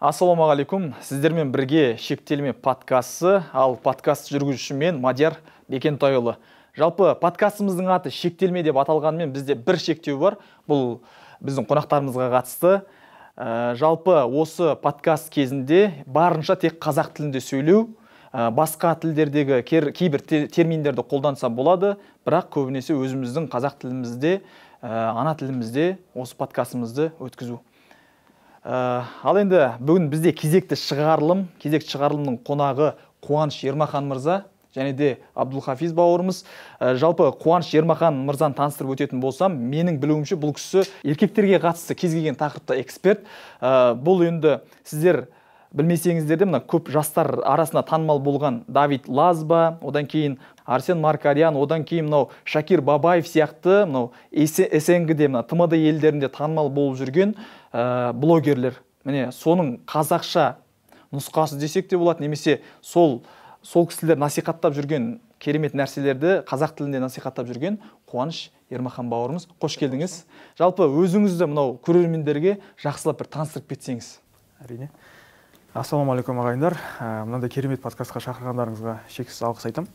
Ассалаумағалейкум, сіздермен бірге шектелме подкасты, ал подкаст жүргізуші мен Мадияр Бекентайұлы. Жалпы подкастымыздың аты шектелме деп аталғанымен бізде бір шектеу бар, бұл біздің қонақтарымызға қатысты. Жалпы осы подкаст кезінде барынша тек қазақ тілінде сөйлеу, басқа тілдердегі кейбір терминдерді қолданса болады, бірақ көбінесе өзіміздің қазақ тілімізде, ана тілімізде осы подкастымызды өткізу. Ал енді бүгін бізде кезекті шығарылымның қонағы Қуаныш Ермахан мырза және де Абдулхафиз бауырымыз. Жалпы Қуаныш Ермахан мырзаны таныстырып өтетін болсам, менің білуімше бұл кісі еркектерге қатысты кез келген тақырыпта эксперт. Бұл енді сіздер білмесеңіздер де, көп жастар арасында танымал болған Давид Лазба, одан кейін Арсен Маркарян, одан кейін Шакир Бабаев сияқты СНГ-де, ТМД елдерінде танымал болып жүрген блогерлер. Міне соның қазақша нұсқасы десек те болады, немесе сол кісілер насихаттап жүрген керемет нәрселерді қазақ тілінде насихаттап жүрген Қуаныш Ермахан бауырымыз. Қош келдіңіз. Жалпы өзіңізді көрермендерге жақсылап бір таныстырып кетсеңіз. Әрине. Ассалаумағалейкум ағайындар. Мынандай керемет подкастқа шақырғандарыңызға шексіз алғыс айтамын.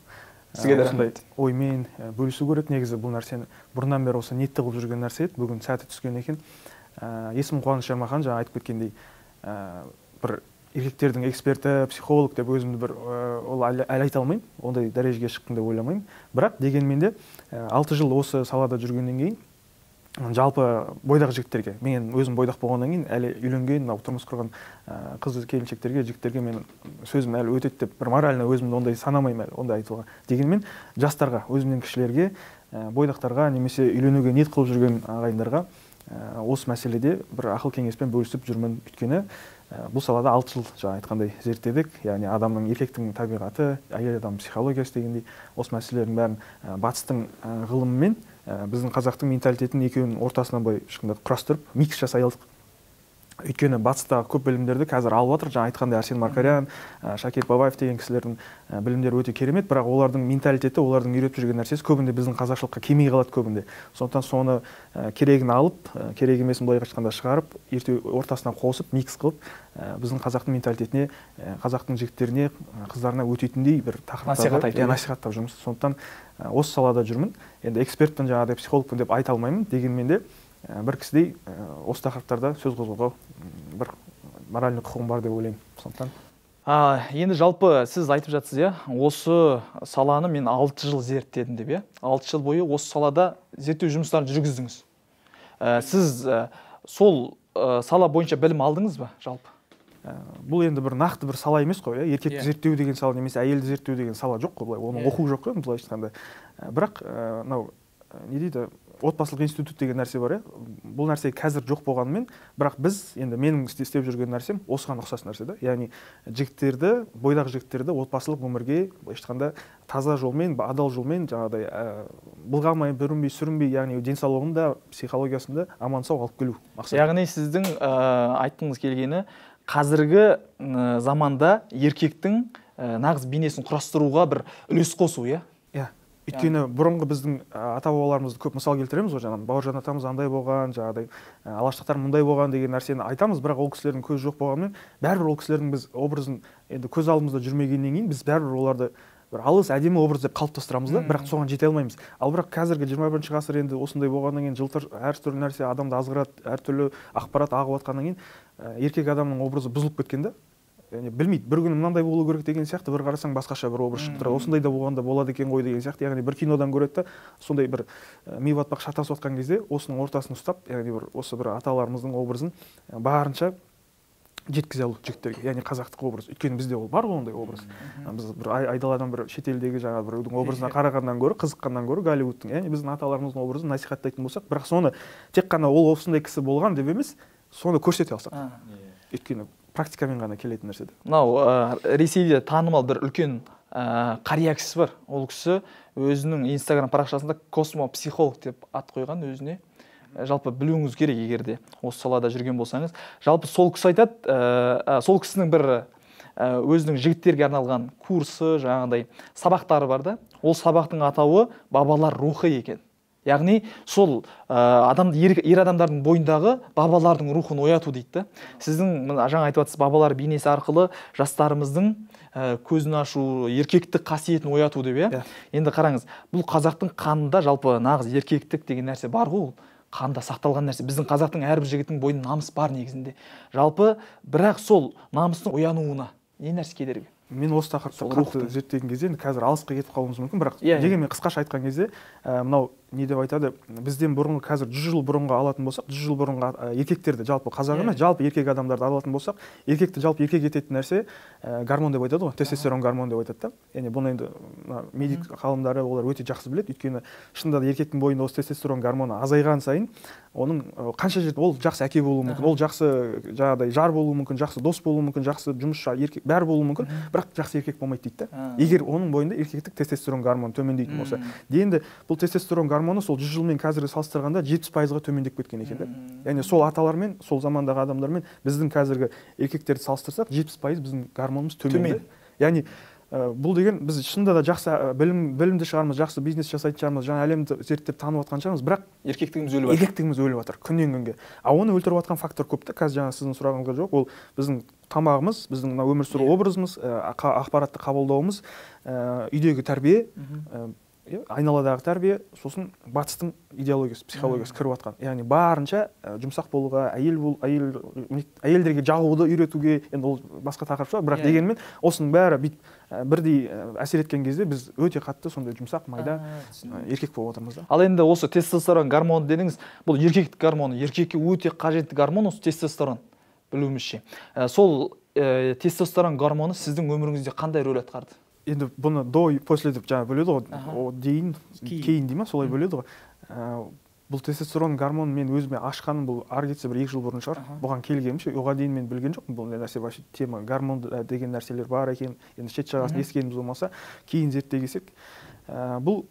Сізге де осындай оймен бөлісу керек. Негізі бұл нәрсені бұрыннан бері осы ниетті қылып жүрген нәрсе еді. Бүгін сәті түскен екен. Есімім Қуаныш Ермахан, жаңа айтып кеткендей, бір еркектердің эксперті, психолог деп өзімді бір ол әлі айта алмаймын. Ондай дәрежеге шықтым деп ойламаймын. Бірақ дегенмен де 6 жыл осы салада жүргеннен кейін жалпы бойдақ жігіттерге, мен өзім бойдақ болғаннан кейін әлі үйленген, тұрмыс құрған қыз келіншектерге, жігіттерге мен сөзім әлі өтеді деп бір морально өзімді ондай санамаймын әлі, ондай айтуға. Дегенмен жастарға, өзімнен кішілерге, бойдақтарға немесе үйленуге ниет қылып жүрген ағайындарға осы мәселеде бір ақыл кеңеспен бөлісіп жүрмін. Өйткені бұл салада 6 жыл жаңа айтқандай зерттедік, яғни адамның, еркектің табиғаты, әйел адам психологиясы дегендей осы мәселелердің бәрін батыстың ғылымымен біздің қазақтың менталитетін екеуінің ортасынан былай құрастырып микс жасай алдық. Өйткені батыстағы көп білімдерді қазір алып жатыр. Жаңа айтқандай Арсен Маркарян, Шакир Бабаев деген кісілердің білімдері өте керемет, бірақ олардың менталитеті, олардың үйретіп жүрген нәрсесі көбінде біздің қазақшылыққа келмей қалады көбінде. Сондықтан соны керегін алып, керек емесін былай айтқанда шығарып, ерте ортасынан қосып, микс қылып, біздің қазақтың менталитетіне, қазақтың жігіттеріне, қыздарына өтетіндей бір тақырыптарды насихаттап жүрміз. Сондықтан осы салада жүрмін. Енді экспертпін, жаңағыдай психологпын деп айта алмаймын, дегенмен де бір кісідей осы тақырыптарда сөз қозғауға бір моральный құқығым бар деп ойлаймын. Сондықтан енді жалпы сіз айтып жатсыз, осы саланы мен 6 жыл зерттедім деп, 6 жыл бойы осы салада зерттеу жұмыстарын жүргіздіңіз. Сіз сол сала бойынша білім алдыңыз ба жалпы? Бұл енді бір нақты бір сала емес қой, еркекті зерттеу деген сала немесе әйелді зерттеу деген сала жоқ қой, былай оның оқу жоқ қой, былай айтқанда. Бірақ не дейді, отбасылық институт деген нәрсе бар, бұл нәрсе қазір жоқ болғанымен, бірақ біз енді менің істеп жүрген нәрсем осыған ұқсас нәрсе да. Яғни жігіттерді, бойдақ жігіттерді отбасылық өмірге айтқанда таза жолмен, адал жолмен, жаңағыдай былғамай, бүрінбей, сүрінбей, яғни денсаулығында, психологиясында аман сау алып келу мақсат. Яғни сіздің айтқыңыз келгені қазіргі заманда еркектің нағыз бейнесін құрастыруға бір үлес қосу, Өйткені бұрынғы біздің ата-бабаларымызды көп мысал келтіреміз ғой, жаңағы Бауыржан атамыз андай болған, жаңағыдай алаштықтар мұндай болған деген нәрсені айтамыз, бірақ ол кісілердің көзі жоқ болғанымен, бәрібір ол кісілердің біз образын енді көз алдымызда жүрмегеннен кейін біз бәрібір оларды бір алыс әдемі образ деп қалыптастырамыз да, бірақ соған жете алмаймыз. Ал бірақ қазіргі 21 ғасыр енді осындай болғаннан кейін жылтыр әртүрлі нәрсе адамды азғырады, әртүрлі ақпарат ағып жатқаннан кейін еркек адамның образы бұзылып кеткен да. Білмейді, бір күні мынандай болу керек деген сияқты, бір қарасаң басқаша бір образ шығып тұрады. Осындай да болғанда болады екен ғой деген сияқты, яғни бір кинодан көреді да, сондай бір ми батпақ шатасып жатқан кезде осының ортасын ұстап, яғни осы бір аталарымыздың образын барынша жеткізе алу жігіттерге, яғни қазақтық образ. Өйткені бізде ол бар ғой ондай образ. Біз бір айдаладан бір шетелдегі жаңа біреудің образына қарағаннан гөрі, қызыққаннан гөрі Голливудтың, яғни біздің аталарымыздың образын насихаттайтын болсақ, бірақ соны тек қана ол осындай кісі болған деп емес, соны көрсете алсақ. Өйткені практикамен ғана келетін нәрсе. Ресейде танымал бір үлкен қария кісі бар. Ол кісі өзінің Инстаграм парақшасында космопсихолог деп ат қойған өзіне. Жалпы білуіңіз керек, егерде осы салада жүрген болсаңыз. Жалпы сол кісі айтады, сол кісінің бір өзінің жігіттерге арналған курсы, жаңағыдай сабақтары бар да. Ол сабақтың атауы бабалар рухы екен. яғни сол ер адамдардың бойындағы бабалардың рухын ояту дейді да. Сіздің жаңа айтып жатсыз, бабалар бейнесі арқылы жастарымыздың көзін ашу, еркектік қасиетін ояту деп, иә? Енді қараңыз, бұл қазақтың қанында жалпы нағыз еркектік деген нәрсе бар ғой, қанда сақталған нәрсе. Біздің қазақтың әрбір жігіттің бойында намыс бар негізінде. Жалпы, бірақ сол намыстың оянуына не нәрсе кедергі? Мен осы тақырыпты қатты зерттеген кезде қазір алысқа кетіп қалуымыз мүмкін, бірақ дегенмен қысқаша айтқан кезде мынау не деп айтады, бізден бұрынғы, қазір 100 жыл бұрынғы алатын болсақ, 100 жыл бұрынғы еркектерді, жалпы қазақ емес, жалпы еркек адамдарды алатын болсақ, еркекті жалпы еркек ететін нәрсе гормон деп айтады ғой, тестостерон гормон деп айтады да. Яғни бұны енді медик ғалымдары олар өте жақсы біледі, өйткені шынында да еркектің бойында осы тестостерон гормоны азайған сайын, оның қанша жерде ол жақсы әке болуы мүмкін, ол жақсы жаңағыдай жар болуы мүмкін, жақсы дос болуы мүмкін, жақсы жұмысшы, еркек бәрі болуы мүмкін, бірақ жақсы еркек болмайды дейді да. Егер оның бойында еркектік тестостерон гормоны төмендейтін болса. Енді бұл тестостерон гормоны сол 100 жылмен қазіргі салыстырғанда 70%-ға төмендеп кеткен екен да. Яғни сол аталармен, сол замандағы адамдармен біздің қазіргі еркектерді салыстырсақ, 70% біздің гормонымыз төмен. Яғни бұл деген біз шынында да жақсы білімді шығармыз, жақсы бизнес жасайтын шығармыз, жаңа әлемді зерттеп танып жатқан шығармыз, бірақ еркектігіміз өліп жатыр күннен күнге. Оны өлтіріп жатқан фактор көп та. Қазір жаңа сіздің сұрағыңызға жоқ, ол біздің тамағымыз, біздің өмір сүру образымыз, ақпаратты қабылдауымыз, үйдегі тәрбие, айналадағы тәрбие, сосын батыстың идеологиясы, психологиясы кіріп жатқан. Яғни барынша жұмсақ болуға, әйелдерге жағуды үйретуге, енді ол басқа тақырып шығар, бірақ дегенмен осының бәрі бірдей әсер еткен кезде біз өте қатты сондай жұмсақ, майда еркек болып отырмыз да. Ал енді осы тестостерон гормоны дедіңіз, бұл еркектік гормон, еркекке өте қажетті гормон осы тестостерон, білуімізше. Сол тестостерон гормоны сіздің өміріңізде қандай рөл атқарды? Енді бұны до и после деп жаңа бөледі ғой, дейін, кейін дей ма, солай бөледі ғой. Бұл тестостерон гормонын мен өзіме ашқаным бұл ары кетсе бір 2 жыл бұрын шығар. Бұған келгенімше, оған дейін мен білген жоқпын, бұл нәрсе вообще тема, гормон деген нәрселер бар екен, енді шет жағасын ескеніміз болмаса, кейін зерттей келсек, бұл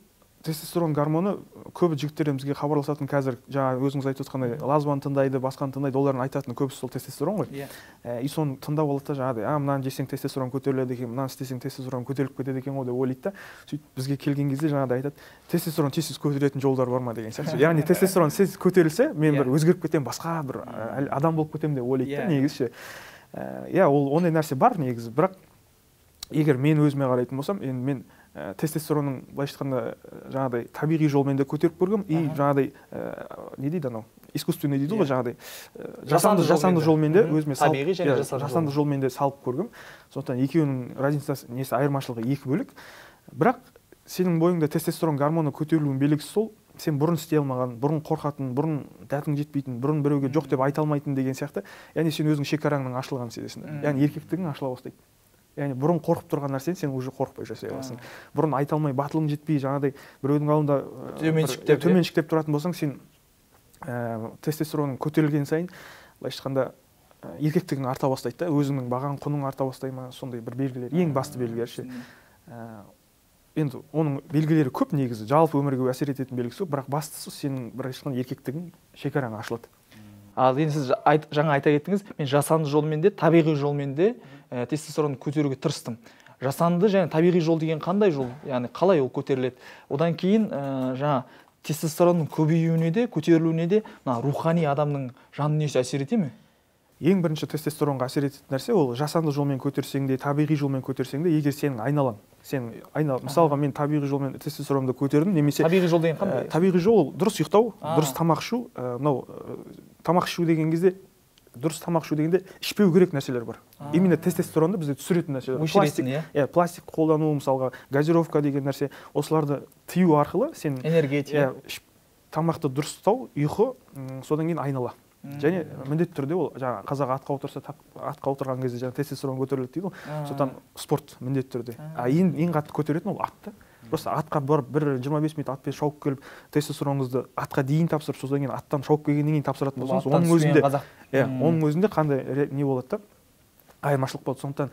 тестостерон гормоны көбі жігіттерден бізге хабарласатын қазір жаңа өзіңіз айтып отқандай лазваны тыңдайды, басқаны тыңдайды, олардың айтатын көбісі сол тестостерон ғой. И соны тыңдап алады да жаңағыдай, мынаны жесең тестостерон көтеріледі екен, мынаны істесең тестостерон көтеріліп кетеді екен ғой деп ойлайды да. Сөйтіп бізге келген кезде жаңағыдай айтады, тестостерон тез көтеретін жолдар бар ма деген сияқты. Яғни тестостерон тез көтерілсе, мен бір өзгеріп кетемін, басқа бір адам болып кетемін деп ойлайды да негізі. Ол ондай нәрсе бар негізі, бірақ егер мен өзіме қарайтын болсам, енді мен тестостеронның былайша айтқанда жаңағыдай табиғи жолмен де көтеріп көргем, и жаңағыдай не дейді анау, искусственный дейді ғой, жаңағыдай жасанды жолмен де өзіме табиғи және жасанды жолмен де салып көргем. Сондықтан екеуінің разницасы, несі айырмашылығы екі бөлек. Бірақ сенің бойыңда тестостерон гормоны көтерілуінің белгісі сол, сен бұрын істей алмаған, бұрын қорқатын, бұрын дәтің жетпейтін, бұрын біреуге жоқ деп айта алмайтын деген сияқты, яғни сен өзің шекараңның ашылғанын сезесің. Яғни еркектігің ашыла бастайды. Яғни бұрын қорқып тұрған нәрсен сен уже қорықпай жасай аласың. Бұрын айта алмай, батылың жетпей, жаңағыдай біреудің алдында төменшіктеп тұратын болсаң, сен тестостеронның көтерілген сайын, былайша айтқанда еркектігің арта бастайды да, өзіңнің бағаң, құның арта бастай ма, сондай бір белгілер, ең басты белгілер ше. Енді оның белгілері көп негізі, жалпы өмірге әсер ететін белгісі көп, бірақ бастысы сенің былайша айтқанда еркектігің шекараң ашылады. Ал енді сіз жаңа айта кеттіңіз, мен жасанды жолмен де, табиғи жолмен де тестостеронды көтеруге тырыстым. Жасанды және табиғи жол деген қандай жол? Яғни қалай ол көтеріледі? Одан кейін жаңа тестостеронның көбеюіне де, көтерілуіне де рухани адамның жан дүниесі әсер ете ме? Ең бірінші тестостеронға әсер ететін нәрсе ол жасанды жолмен көтерсең де, табиғи жолмен көтерсең де, егер сенің айналаң, мысалға мен табиғи жолмен тестостеронды көтердім, немесе табиғи жол деген қандай? Табиғи жол дұрыс ұйықтау, дұрыс тамақ ішу, тамақ ішу деген кезде, дұрыс тамақ ішу дегенде ішпеу керек нәрселер бар. Именно тестостеронды бізде түсіретін нәрселер. Пластик қолдану, мысалға газировка деген нәрсе, осыларды тыю арқылы сен энергетика, тамақты дұрыс ұстау, ұйқы, содан кейін айнала. Және міндетті түрде ол жаңа қазақ атқа отырса, атқа отырған кезде жаңа тестостерон көтеріледі дейді ғой. Содан спорт міндетті түрде. Ең қатты көтеретін ол атты. Просто атқа барып 25 минут атпен шауып келіп, тестостероныңызды атқа дейін тапсырып, содан кейін аттан шауып келгеннен кейін тапсыратын болсаңыз, оның өзінде қандай не болады да, айырмашылық болады. Сондықтан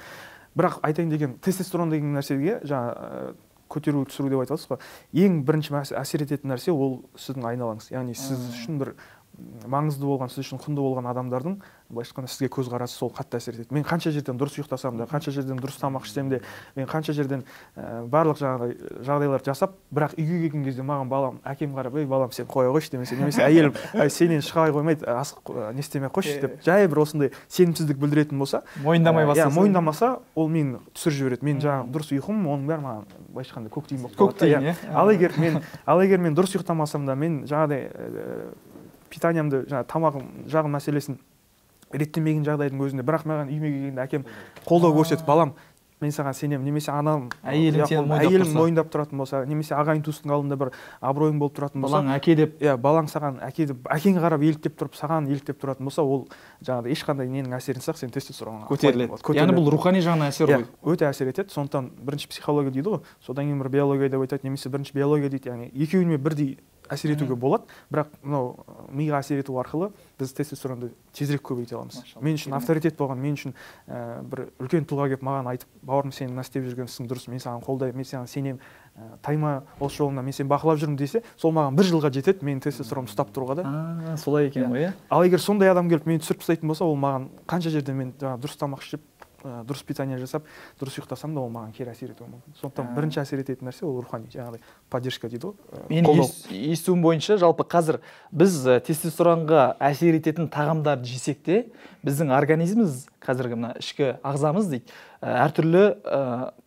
бірақ айтайын деген тестостерон деген нәрсеге жаңа көтеру түсіру деп айтасыз ғой. Ең бірінші әсер ететін нәрсе ол сіздің айналаңыз. Яғни сіз үшін бір маңызды болған, сіз үшін құнды болған адамдардың былайша айтқанда сізге көзқарасы сол қатты әсер етеді. Мен қанша жерден дұрыс ұйықтасам да, қанша жерден дұрыс тамақ ішсем де, мен қанша жерден барлық жаңағыдай жағдайлар жасап, бірақ үйге келген кезде маған балам, әкем қарап, ей балам сен қоя қойшы немесе әйелім сенен шыға қоймайды, не істемей ақ қойшы деп, жай бір осындай сенімсіздік білдіретін болса, мойындамай бастаса, мойындамаса, ол мені түсіріп жібереді. Мен жаңағы дұрыс ұйқым, оның бәрі маған былайша айтқанда көк тиын болып қалады. Ал егер мен дұрыс ұйықтамасам да, мен жаңағыдай питаниямды, жаңағы тамағым жағын мәселесін реттемеген жағдайдың өзінде, бірақ маған үйіме келгенде әкем қолдау көрсетіп, балам, мен саған сенемін, немесе анам, әйелім мойындап тұратын болса, немесе ағайын туыстың алдында бір абыройың болып тұратын болса, балаң әке деп, балаң саған әке деп, әкеңе қарап еліктеп тұрып, саған еліктеп тұратын болса, ол жаңағыдай ешқандай ненің әсерін сақ, сен тестостеронға көтеріледі. Яғни бұл рухани жағынан әсер ғой. Өте әсер етеді. Сондықтан бірінші психология дейді ғой, содан кейін бір биология деп айтады, немесе бірінші биология дейді. Яғни екеуіне бірдей әсер етуге болады, бірақ мынау миға әсер ету арқылы біз тестостеронды тезірек көбейте аламыз. Мен үшін авторитет болған, мен үшін бір үлкен тұлға келіп маған айтып, бауырым сен мына істеп жүрген ісің дұрыс, мен саған қолдаймын, мен саған сенемін, тайма осы жолында, мен сені бақылап жүрмін десе, сол маған 1 жылға жетеді, менің тестостеронымды ұстап тұруға да. Солай екен ғой, Ал егер сондай адам келіп мені түсіріп тастайтын болса, ол маған қанша жерде мен дұрыс тамақ ішіп, дұрыс питание жасап, дұрыс ұйықтасам да, ол маған кері әсер етуі мүмкін. Сондықтан бірінші әсер ететін нәрсе ол рухани, жаңағыдай поддержка дейді ғой. Менің естуім бойынша, жалпы қазір біз тестостеронға әсер ететін тағамдарды жесек те, біздің организміміз, қазіргі мына ішкі ағзамыз дейді, әртүрлі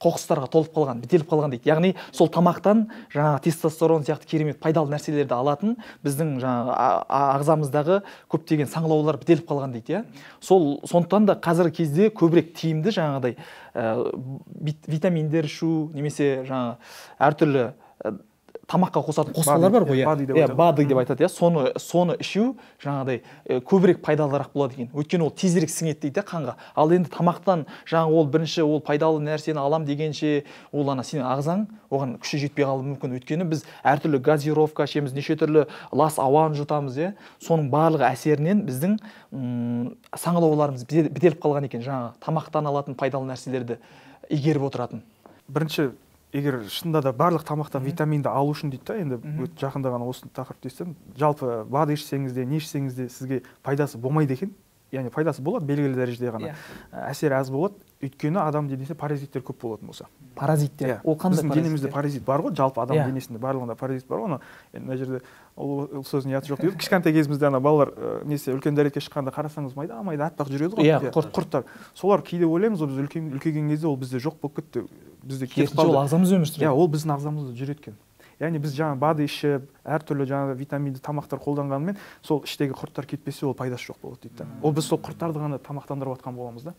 қоқыстарға толып қалған, бітеліп қалған дейді. Яғни сол тамақтан жаңағы тестостерон сияқты керемет пайдалы нәрселерді алатын біздің жаңағы ағзамыздағы көптеген саңылаулар бітеліп қалған дейді. Сондықтан да қазіргі кезде көбірек тиімді жаңағыдай витаминдер ішу, немесе жаңағы әртүрлі тамаққа қосатын қоспалар бар ғой, БАДы деп айтады, соны ішу жаңағыдай көбірек пайдалырақ болады екен. Өйткені ол тезірек сіңеді дейді қанға. Ал енді тамақтан жаңағы ол бірінші ол пайдалы нәрсені алам дегенше, ол ана сенің ағзаң оған күші жетпей қалуы мүмкін. Өйткені біз әртүрлі газировка ішеміз, неше түрлі лас ауаны жұтамыз, соның барлығы әсерінен біздің саңылауларымыз бітеліп қалған екен, жаңағы тамақтан алатын пайдалы нәрселерді игеріп отыратын. Бірінші, егер шынында да барлық тамақтан витаминді алу үшін дейді да, енді жақында ғана осы тақырыпты естідім, жалпы БАД ішсеңіз де, не ішсеңіз де сізге пайдасы болмайды екен. Яғни пайдасы болады, белгілі дәрежеде ғана. Әсері аз болады, өйткені адам денесінде паразиттер көп болатын болса. Паразиттер? Ол қандай паразиттер? Біздің денемізде паразит бар ғой, жалпы адам денесінде барлығында паразит бар ғой. Мына жерде ол сөздің ұяты жоқ дейді. Кішкентай кезімізде ана балалар несе үлкен дәретке шыққанда қарасаңыз майда аппақ жүреді ғой. Құрттар. Солар кейде ойлаймыз ғой, біз үлкейген кезде ол бізде жоқ болып кетті. Бізде кетіп қалды. Ол ағзамыз өмір сүреді. Ол біздің ағзамызда жүр еткен. Яғни біз жаңа БАД ішіп, әртүрлі жаңа витаминді тамақтар қолданғанымен, сол іштегі құрттар кетпесе, ол пайдасы жоқ болады дейді. Ол біз сол құрттарды ғана тамақтандырып жатқан боламыз да.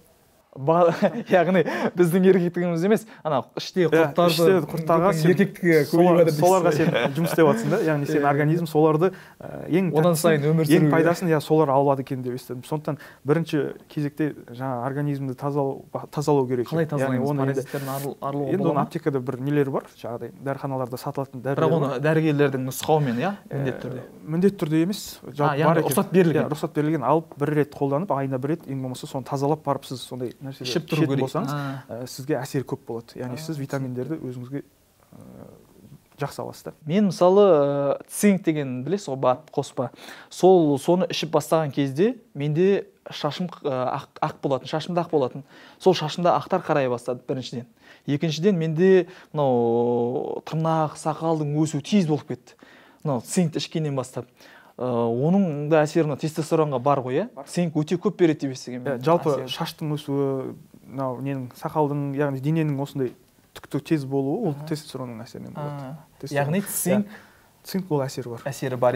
Яғни біздің еркектігіміз емес, ана іштегі құрттарға соларға сен жұмыс істеп жатсың да, яғни сен организм соларды ең пайдасын солар алады екен деп естідім. Сондықтан бірінші кезекте жаңа организмді тазалау керек. Қалай тазалаймыз? Паразиттерден арылуға болады ма? Енді оны аптекада бір нелер бар, жаңағыдай дәріханаларда сатылатын дәрілер. Бірақ оны дәрігерлердің нұсқауымен, міндетті түрде емес, рұқсат берілген. Рұқсат берілген, алып бір рет қолданып, айына бір рет, ең болмаса соны тазалап барып сіз сондай ішіп тұру керек болсаңыз, сізге әсер көп болады. Яғни сіз витаминдерді өзіңізге жақсы аласыз да. Мен мысалы цинк деген білесіз ғой, БАД қоспа. Соны ішіп бастаған кезде менде шашым ақ болатын, шашымда ақ болатын. Сол шашымда ақтар қарая бастады біріншіден. Екіншіден менде мынау тырнақ, сақалдың өсуі тез болып кетті. Мынау цинкті ішкеннен бастап. Оның да әсері тестостеронға бар ғой, цинк өте көп береді деп естігенмін. Жалпы шаштың өсуі, ненің сақалдың, яғни дененің осындай түкті тез болуы, ол тестостеронның әсерінен болады. Яғни цинк ол әсері бар. Әсері бар,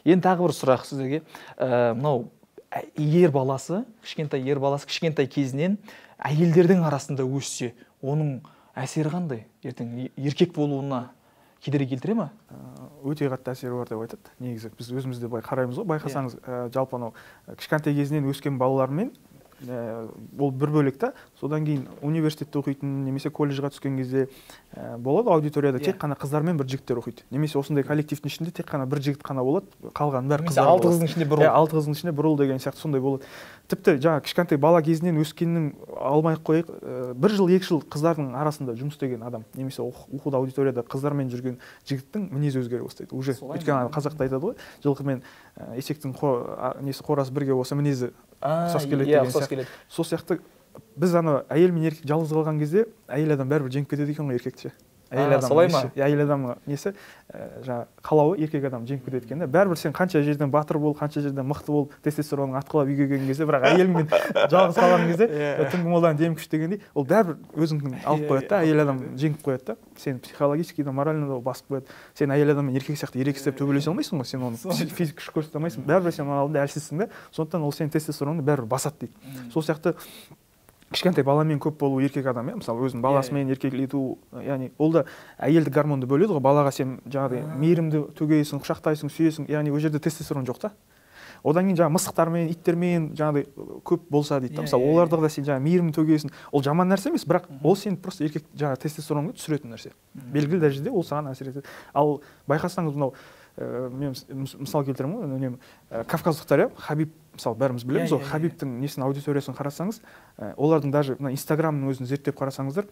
Енді тағы бір сұрақ сіздерге. Мынау ер баласы, кішкентай кезінен әйелдердің арасында өссе, оның әсері қандай? Ертең еркек болуына кедергі келтіре ме? Өте қатты әсері бар деп айтады. Негізі біз өзімізде қараймыз ғой, байқасаңыз, жалпы анау кішкентай кезінен өскен балалармен ол бір бөлек та. Содан кейін университетте оқитын немесе колледжға түскен кезде болады аудиторияда тек қана қыздар мен бір жігіттер оқиды. Немесе осындай коллективтің ішінде тек қана бір жігіт қана болады, қалған бәрі қыздар болады. 6 қыздың ішінде бір ұл. 6 қыздың ішінде бір ұл деген сияқты сондай болады. Тіпті жаңа кішкентай бала кезінен өскеннің алмай-ақ қояйық, 1 жыл 2 жыл қыздардың арасында жұмыс істеген адам немесе оқуда аудиторияда қыздармен жүрген жігіттің мінезі өзгере бастайды. Уже өйткені қазақта айтады ғой, жылқы мен есектің қорасы бірге болса мінезі ұқсас келеді деген сияқты. Сол сияқты біз әйел мен еркек жалғыз қалған кезде әйел адам бәрібір жеңіп кетеді екен ғой еркекті. Әйел адам несі жаңа қалауы еркек адам жеңіп кетеді екен. Бәрібір сен қанша жерден батыр бол, қанша жерден мықты бол, тестостеронның атқылап үйге келген кезде, бірақ әйелмен жалғыз қалған кезде түнгі молдан дем күш дегендей, ол бәрібір өзіңнің алып қояды да, әйел адам жеңіп қояды да. Сен психологически да, морально да басып қояды. Сен әйел адаммен еркек сияқты ерегістеп төбелесе алмайсың ғой, сен оны физик күш көрсете алмайсың. Бәрібір сен оның алдында әлсізсің да, сондықтан ол сенің тестостероныңды бәрібір басады дейді. Сол сияқты кішкентай баламен көп болу еркек адам, мысалы өзінің баласымен еркелету, яғни ол да әйелдік гормонды бөледі ғой. Балаға сен жаңағыдай мейірімді төгесің, құшақтайсың, сүйесің, яғни ол жерде тестостерон жоқ та. Одан кейін жаңағы мысықтармен, иттермен жаңағыдай көп болса дейді. Мысалы оларда да сен жаңағы мейірімді төгесің. Ол жаман нәрсе емес, бірақ ол сен просто еркек жаңағы тестостеронды түсіретін нәрсе. Белгілі дәрежеде ол саған әсер етеді. Ал байқасаңыз мынау мен мысал келтіремін ғой, үнемі кавказдықтар, Хабиб, мысалы бәріміз білеміз ғой, Хабибтің несін аудиториясын қарасаңыз, олардың даже мына Инстаграмның өзін зерттеп қарасаңыздар,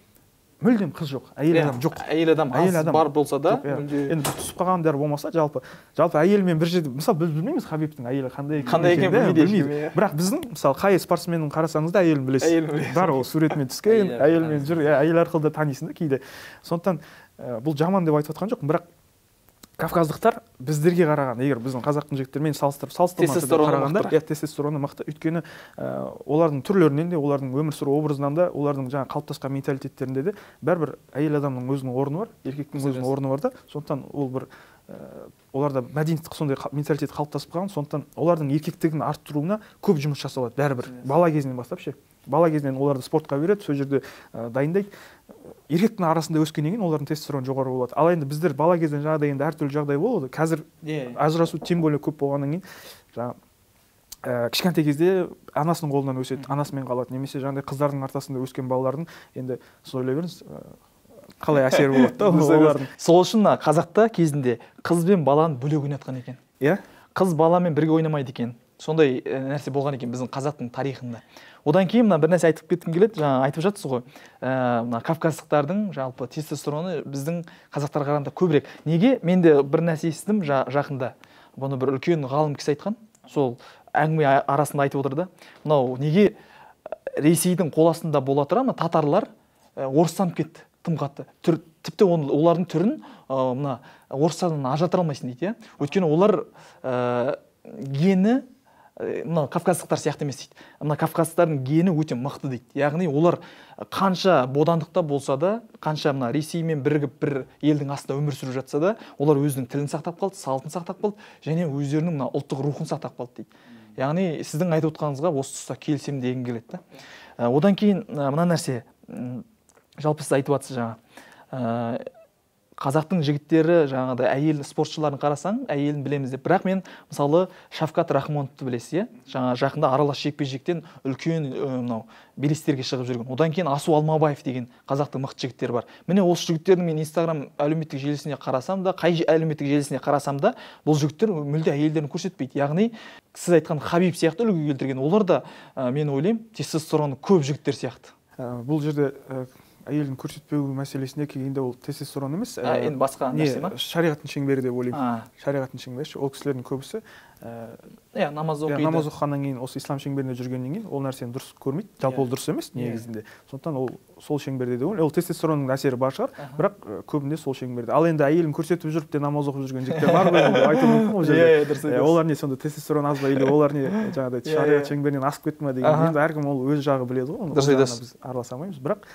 мүлдем қыз жоқ, әйел адам жоқ. Әйел адам аз бар болса да, енді түсіп қалғандар болмаса, жалпы әйелмен бір жерде, мысалы біз білмейміз Хабибтің әйелі қандай екенін білмейміз. Бірақ біздің мысалы қай спортсменнің қарасаңыз да әйелін білесіз. Бар ол суретмен түскен, әйелмен жүр, әйел арқылы да танисың да кейде. Сондықтан бұл жаман деп айтып жатқан жоқпын, бірақ кавказдықтар біздерге қараған, егер біздің қазақтың жігіттермен салыстырмасында қарағанда, тестостероны мықты. Өйткені олардың түрлерінен де, олардың өмір сүру образынан да, олардың жаңа қалыптасқан менталитеттерінде де бәрібір әйел адамның өзінің орны бар, еркектің өзінің орны бар да. Сондықтан ол бір оларда мәдениеттік сондай менталитет қалыптасып қалған, сондықтан олардың еркектігін арттыруына көп жұмыс жасалады бәрібір. Бала кезінен бастап ше. Бала кезінен оларды спортқа береді, сол жерде дайындайды. Еркектің арасында өскеннен кейін олардың тестостероны жоғары болады. Ал енді біздер бала кезден жаңағыдай енді әртүрлі жағдай болады. Қазір ажырасу тем более көп болғаннан кейін жаңа кішкентай кезде анасының қолынан өседі, анасымен қалады. Немесе жаңағыдай қыздардың ортасында өскен балалардың енді сіз ойлай беріңіз қалай әсері болады да олардың. Сол үшін қазақта кезінде қыз бен баланы бөлек ойнатқан екен. Иә? Қыз баламен бірге ойнамайды екен. Сондай нәрсе болған екен біздің қазақтың тарихында. Одан кейін бір нәрсе айтып кеткім келеді. Жаңа айтып жатсыз ғой, мына кавказдықтардың жалпы тестостероны біздің қазақтарға қарағанда көбірек. Неге? Мен де бір нәрсе естідім жақында. Бұны бір үлкен ғалым кісі айтқан. Сол әңгіме арасында айтып отыр да. Мынау неге Ресейдің қол астында бола тұра татарлар орыстанып кетті тым қатты. Тіпті олардың түрін мына орыстардан ажыратыра алмайсың дейді. Өйткені олар гені мына кавказдықтар сияқты емес дейді. Мына кавказдықтардың гені өте мықты дейді. Яғни олар қанша бодандықта болса да, қанша мына Ресеймен бірігіп бір елдің астында өмір сүріп жатса да, олар өзінің тілін сақтап қалды, салтын сақтап қалды, және өздерінің мына ұлттық рухын сақтап қалды дейді. Яғни сіздің айтып отқаныңызға осы тұста келісемін дегім келеді да. Одан кейін мына нәрсе, жалпы сіз айтып жатсыз жаңа, қазақтың жігіттері жаңағыдай әйел спортшыларын қарасаң, әйелін білеміз деп. Бірақ мен мысалы Шавкат Рахмоновты білесіз, жаңа жақында аралас жекпе-жектен үлкен мынау белестерге шығып жүрген. Одан кейін Асу Алмабаев деген қазақтың мықты жігіттері бар. Міне осы жігіттердің мен Инстаграм әлеуметтік желісіне қарасам да, қай әлеуметтік желісіне қарасам да, бұл жігіттер мүлде әйелдерін көрсетпейді. Яғни сіз айтқан Хабиб сияқты үлгі келтірген, олар да мен ойлаймын тестостероны көп жігіттер сияқты. Бұл жерде әйелін көрсетпеу мәселесіне келгенде ол тестостерон емес. Енді басқа нәрсе ма? Шариғаттың шеңбері деп ойлаймын. Шариғаттың шеңбері. Ол кісілердің көбісі намаз оқиды. Намаз оқығаннан кейін, осы ислам шеңберінде жүргеннен кейін ол нәрсені дұрыс көрмейді. Жалпы ол дұрыс емес негізінде. Сондықтан ол сол шеңберде деп ойлаймын. Ол тестостеронның әсері бар шығар, бірақ көбінде сол шеңберде. Ал енді әйелін көрсетіп жүріп те намаз оқып жүрген жігіттер бар ғой деп айту мүмкін ол жерде. Олар не сонда тестостерон аз ба, или олар не жаңағыдай шариғат шеңберінен асып кетті ме деген. Енді әркім ол өз жағы біледі ғой. Біз араласа алмаймыз, бірақ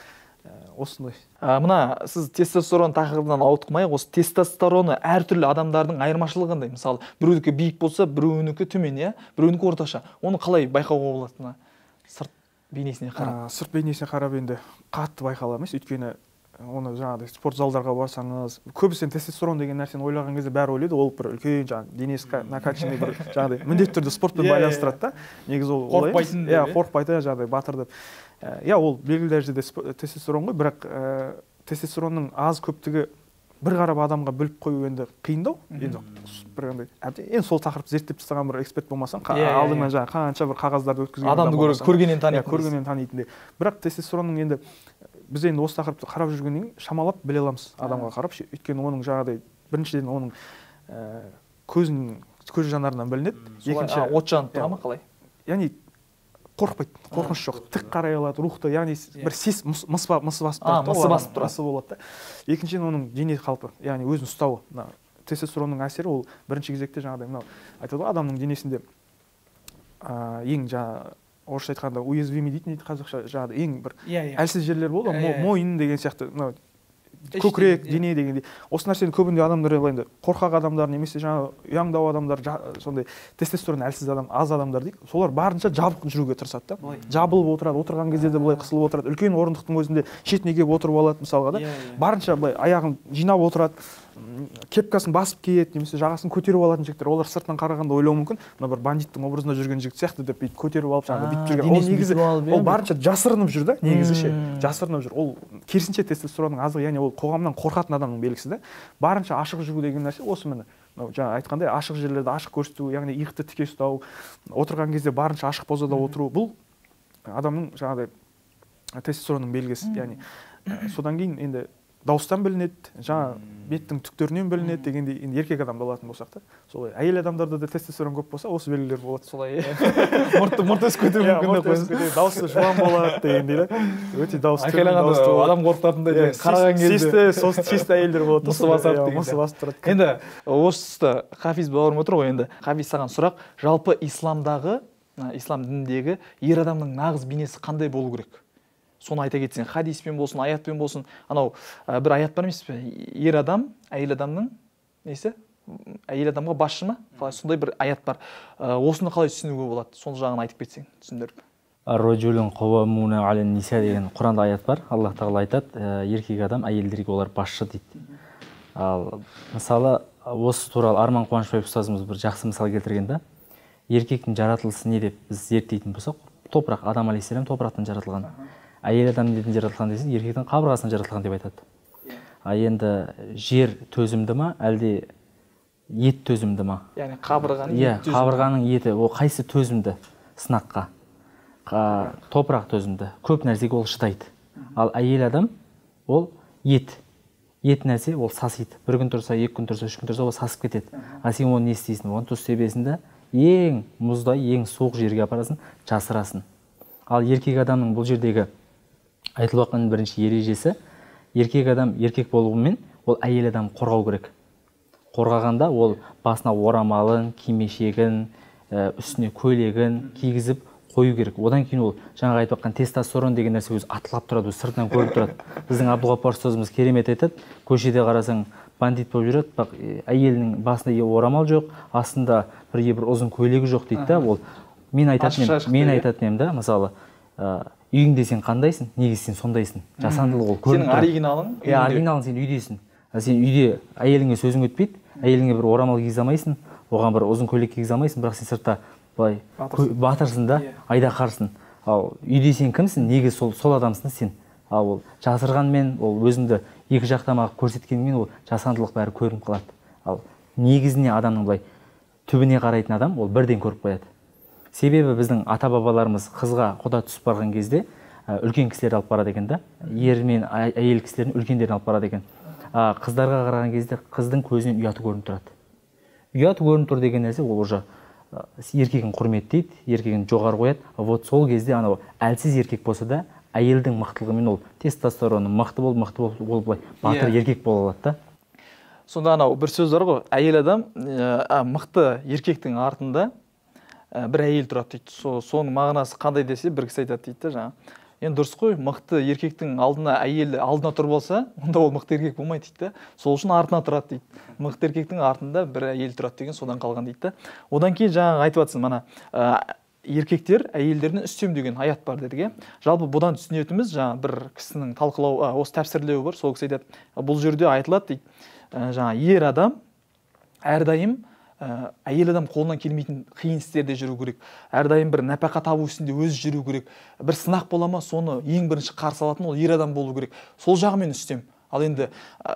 осындай. Мына сіз тестостерон тақырыбынан ауытқымай, осы тестостероны әртүрлі адамдардың айырмашылығы қандай? Мысалы, біреунікі биік болса, біреунікі төмен, біреунікі орташа. Оны қалай байқауға болады? Сырт бейнесіне қарап. Сырт бейнесіне қарап енді қатты байқала емес, өйткені оны жаңағыдай спорт залдарға барсаңыз, көбісі тестостерон деген нәрсені ойлаған кезде бәрі ойлайды, ол бір үлкен жаңағы денесі накачанный бір жаңағыдай міндетті түрде спортпен байланыстырады да. Негізі ол қорықпайтын деп. Иә, қорықпайды жаңағыдай батыр деп. Иә, ол белгілі дәрежеде тестостерон ғой, бірақ тестостеронның аз көптігі бір қарап адамға біліп қою енді қиындау. Енді бір андай әбден сол тақырыпты зерттеп тастаған бір эксперт болмасаң, алдыңнан жаңағы қанша бір қағаздарды өткізген адамды көргеннен танитын. Көргеннен танитындай. Бірақ тестостеронның енді біз енді осы тақырыпты қарап жүргеннен кейін шамалап біле аламыз адамға қарап. Өйткені оның жаңағыдай біріншіден оның көз жанарынан білінеді. Екінші от жанып тұра ма қалай? Яғни қорықпайды, қорқыныш жоқ, тік қарай алады, рухты, яғни бір мыс басып болады да. Екіншіден оның дене қалпы, яғни өзін ұстауы. Тестостеронның әсері ол бірінші кезекте жаңағыдай мынау айтады ғой, адамның денесінде ең жаңа орысша айтқанда уязвимый дейтін қазақша жаңағыдай ең бір әлсіз жерлер болды, мойын деген сияқты, мынау көкірек, дене дегендей. Осы нәрсені көбінде адамдар енді қорқақ адамдар немесе жаңа ұяңдау адамдар, сондай тестостерон әлсіз адам, аз адамдар дейді. Солар барынша жабық жүруге тырысады да. Жабылып отырады, отырған кезде де былай қысылып отырады. Үлкен орындықтың өзінде шетіне келіп отырып алады мысалға да. Барынша былай аяғын жинап отырады, кепкасын басып киеді немесе жағасын көтеріп алатын жігіттер. Олар сыртынан қарағанда ойлауы мүмкін, мына бір бандиттің образында жүрген жігіт сияқты деп бүйтіп көтеріп алып жаңағы бүйтіп жүрген. Ол негізі ол барынша жасырынып жүр да, негізі ше. Жасырынып жүр. Ол керісінше тестостеронның аздығы, яғни ол қоғамнан қорқатын адамның белгісі да. Барынша ашық жүру деген нәрсе осы міне. Жаңа айтқандай ашық жерлерді ашық көрсету, яғни иықты тіке ұстау, отырған кезде барынша ашық позада отыру, бұл адамның жаңағыдай тестостеронның белгісі. Яғни содан кейін енді дауыстан білінеді, жаңа беттің түктерінен білінеді дегендей, енді еркек адамды алатын болсақ та, солай әйел адамдарда да тестостерон көп болса, осы белгілер болады. Солай мұрты өсіп кетуі мүмкін деп, дауысы жуан болады дегендей да. Өте дауысы айқайлағанда адам қорқытатындай қараған кезде чисті әйелдер болады. Мысы басып тұрады. Енді осы тұста Хафиз бауырым отыр ғой, енді Хафиз саған сұрақ, жалпы исламдағы, ислам дініндегі ер адамның нағыз бейнесі қандай болу керек? Соны айта кетсең, хадиспен болсын, аятпен болсын, анау бір аят бар емес пе? Ер адам, әйел адамның несі? Әйел адамға басшы ма? Сондай бір аят бар. Осыны қалай түсінуге болады? Сол жағын айтып кетсең, түсіндіріп. Ар-раджулун қауамуна ален ниса деген Құранда аят бар. Аллах тағала айтады, еркек адам әйелдерге олар басшы дейді. Ал мысалы осы туралы Арман Қуанышбаев ұстазымыз бір жақсы мысал келтірген да. Еркектің жаратылысы не деп біз зерттейтін болсақ, топырақ, Адам алейхиссалам топырақтан жаратылған. Әйел адам неден жаратылған десең, еркектің қабырғасынан жаратылған деп айтады. Енді жер төзімді ма, әлде ет төзімді ма? Яғни қабырғаның еті төзімді. Қабырғаның еті, ол қайсы төзімді сынаққа? Топырақ төзімді, көп нәрсеге ол шыдайды. Ал әйел адам ол ет. Ет нәрсе ол сасиды. Бір күн тұрса, 2 күн тұрса, 3 күн тұрса, ол сасып кетеді. А сен оны не істейсің? Оған тұз себесінде ең мұздай, ең суық жерге апарасын, жасырасын. Ал еркек адамның бұл жердегі айтылып жатқан бірінші ережесі, еркек адам еркек болуымен ол әйел адам қорғау керек. Қорғағанда ол басына орамалын, кимешегін, үстіне көйлегін кигізіп қою керек. Одан кейін ол жаңағы айтып жатқан тестостерон деген нәрсе өзі атылап тұрады, сыртынан көрініп тұрады. Біздің Абдуғаппар ұстазымыз керемет айтады, көшеде қарасаң бандит болып жүреді, бірақ әйелінің басында орамал жоқ, астында бір ұзын көйлегі жоқ дейді да. Ол мен айтатын едім да, мысалы үйіңде сен қандайсың, негізі сен сондайсың. Жасандылық ол көрініп тұрады. Сенің оригиналың? Оригиналың сен үйдесің. Сен үйде әйеліңе сөзің өтпейді, әйеліңе бір орамал кигізе алмайсың, оған бір ұзын көйлек кигізе алмайсың, бірақ сен сыртта былай батырсың да, айдақарсың. Ал үйде сен кімсің? Негізі сол адамсың сен. Ал ол жасырғанмен, ол өзіңді екі жақтама көрсеткенмен ол жасандылық бәрі көрініп қалады. Ал негізіне адамның былай түбіне қарайтын адам ол бірден көріп қояды. Себебі біздің ата-бабаларымыз қызға құда түсіп барған кезде үлкен кісілер алып барады екен да, ер мен әйел кісілерін үлкендерін алып барады екен. Қыздарға қараған кезде қыздың көзінен ұяты көрініп тұрады. Ұяты көрініп тұр деген нәрсе ол уже еркегін құрметтейді, еркегін жоғары қояды. Вот сол кезде анау әлсіз еркек болса да, әйелдің мықтылығымен ол тестостероны мықты бол былай батыр еркек бола алады да. Сонда анау бір сөз бар ғой, әйел адам мықты еркектің артында бір әйел тұрады дейді. Соның мағынасы қандай десе, бір кісі айтады дейді жаңа. Енді дұрыс қой, мықты еркектің алдына әйел алдына тұр болса, онда ол мықты еркек болмайды дейді. Сол үшін артына тұрады дейді. Мықты еркектің артында бір әйел тұрады деген содан қалған дейді. Одан кейін жаңа айтып жатсың, мана еркектер әйелдеріне үстем деген аят бар дедік. Жалпы бұдан түсінетіміз, жаңа бір кісінің талқылау, осы тәпсірлеуі бар, сол кісі айтады, бұл жерде айтылады дейді, жаңа ер адам әрдайым әйел адам қолынан келмейтін қиын істерде жүру керек, әрдайым бір нәпақа табу ісінде өзі жүру керек, бір сынақ бола ма, соны ең бірінші қарсы алатын ол ер адам болу керек, сол жағымен үстем. Ал енді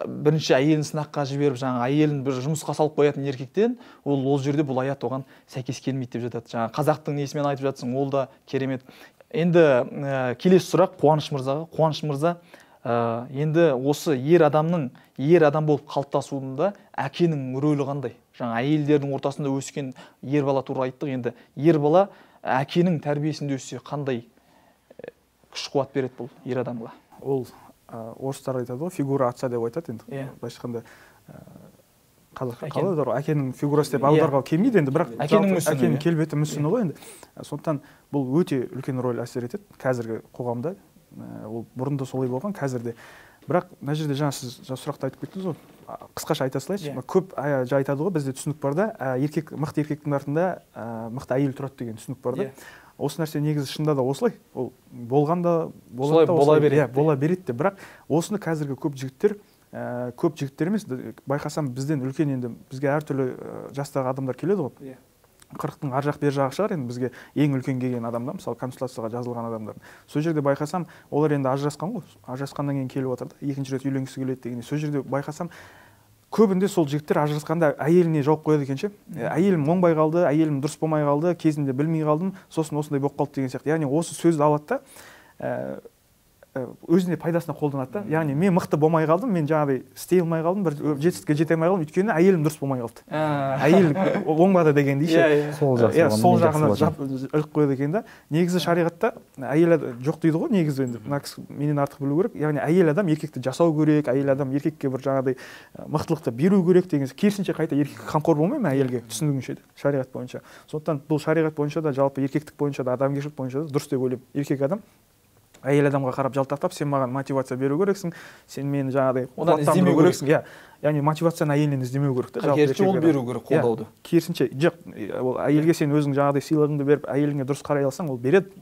бірінші әйелін сынаққа жіберіп, жаңа әйелін бір жұмысқа салып қоятын еркектен, ол жерде бұл аят оған сәйкес келмейді деп жатады. Жаңа қазақтың несімен айтып жатсың, ол да керемет. Енді келесі сұрақ Қуаныш мырзаға. Қуаныш мырза, енді осы ер адам болып қалыптасуында әкенің рөлі қандай? Жаңа әйелдердің ортасында өскен ер бала туралы айттық. Енді ер бала әкенің тәрбиесінде өссе қандай күш қуат береді бұл ер адамға? Ол орыстар айтады ғой, фигура отца деп айтады енді. Былайша айтқанда қалай бар, әкенің фигурасы деп аударуға келмейді енді, бірақ әкенің келбеті мүсіні ғой енді. Сондықтан бұл өте үлкен рөл әсер етеді қазіргі қоғамда. Ол бұрында солай болған, қазірде. Бірақ мына жерде жаңа сіз сұрақты айтып кеттіңіз ғой, қысқаша айта салайыншы. Көп айтады ғой, бізде түсінік бар да, мықты еркектің артында мықты әйел тұрады деген түсінік бар да. Осы нәрсе негізі шында да осылай, ол болғанда бола береді де, бірақ осыны қазіргі көп жігіттер емес, байқасам бізден үлкен, енді бізге әртүрлі жастағы адамдар келеді ғой, 40-тың ар жақ бер жағы шығар, енді бізге ең үлкен келген адамдар, мысалы консультацияға жазылған адамдар. Сол жерде байқасам, олар енді ажырасқан ғой, ажырасқаннан кейін келіп отыр да, екінші рет үйленгісі келеді деген. Сол жерде байқасам, көбінде сол жігіттер ажырасқанда әйеліне жауап қояды екен ше. Әйелім оңбай қалды, әйелім дұрыс болмай қалды, кезінде білмей қалдым, сосын осындай болып қалды деген сияқты. Яғни осы сөзді алады да, өзіне пайдасына қолданады да. Яғни мен мықты болмай қалдым, мен жаңағыдай істей алмай қалдым, бір жетістікке жете алмай қалдым, өйткені әйелім дұрыс болмай қалды. Әйел оңбады дегендей ше. Сол жағына іліп қояды екен да. Негізі шариғатта әйел жоқ дейді ғой, негізі енді мына кісі менен артық білу керек. Яғни әйел адам еркекті жасау керек, әйел адам еркекке бір жаңағыдай мықтылықты беру керек деген. Керісінше қайта еркек қамқор болмай ма әйелге, түсінігімше шариғат бойынша. Сондықтан бұл шариғат бойынша да, жалпы еркектік бойынша да, адамгершілік бойынша да дұрыс деп ойлаймын. Еркек адам әйел адамға қарап жалтақтап, сен маған мотивация беру керексің, сен мені жаңағыдай іздемеу керексің. Яғни мотивацияны әйелінен іздемеу керек та. Керісінше ол беру керек, қолдауды. Керісінше, жоқ, ол әйелге сен өзің жаңағыдай сыйлығыңды беріп, әйеліңе дұрыс қарай алсаң, ол береді.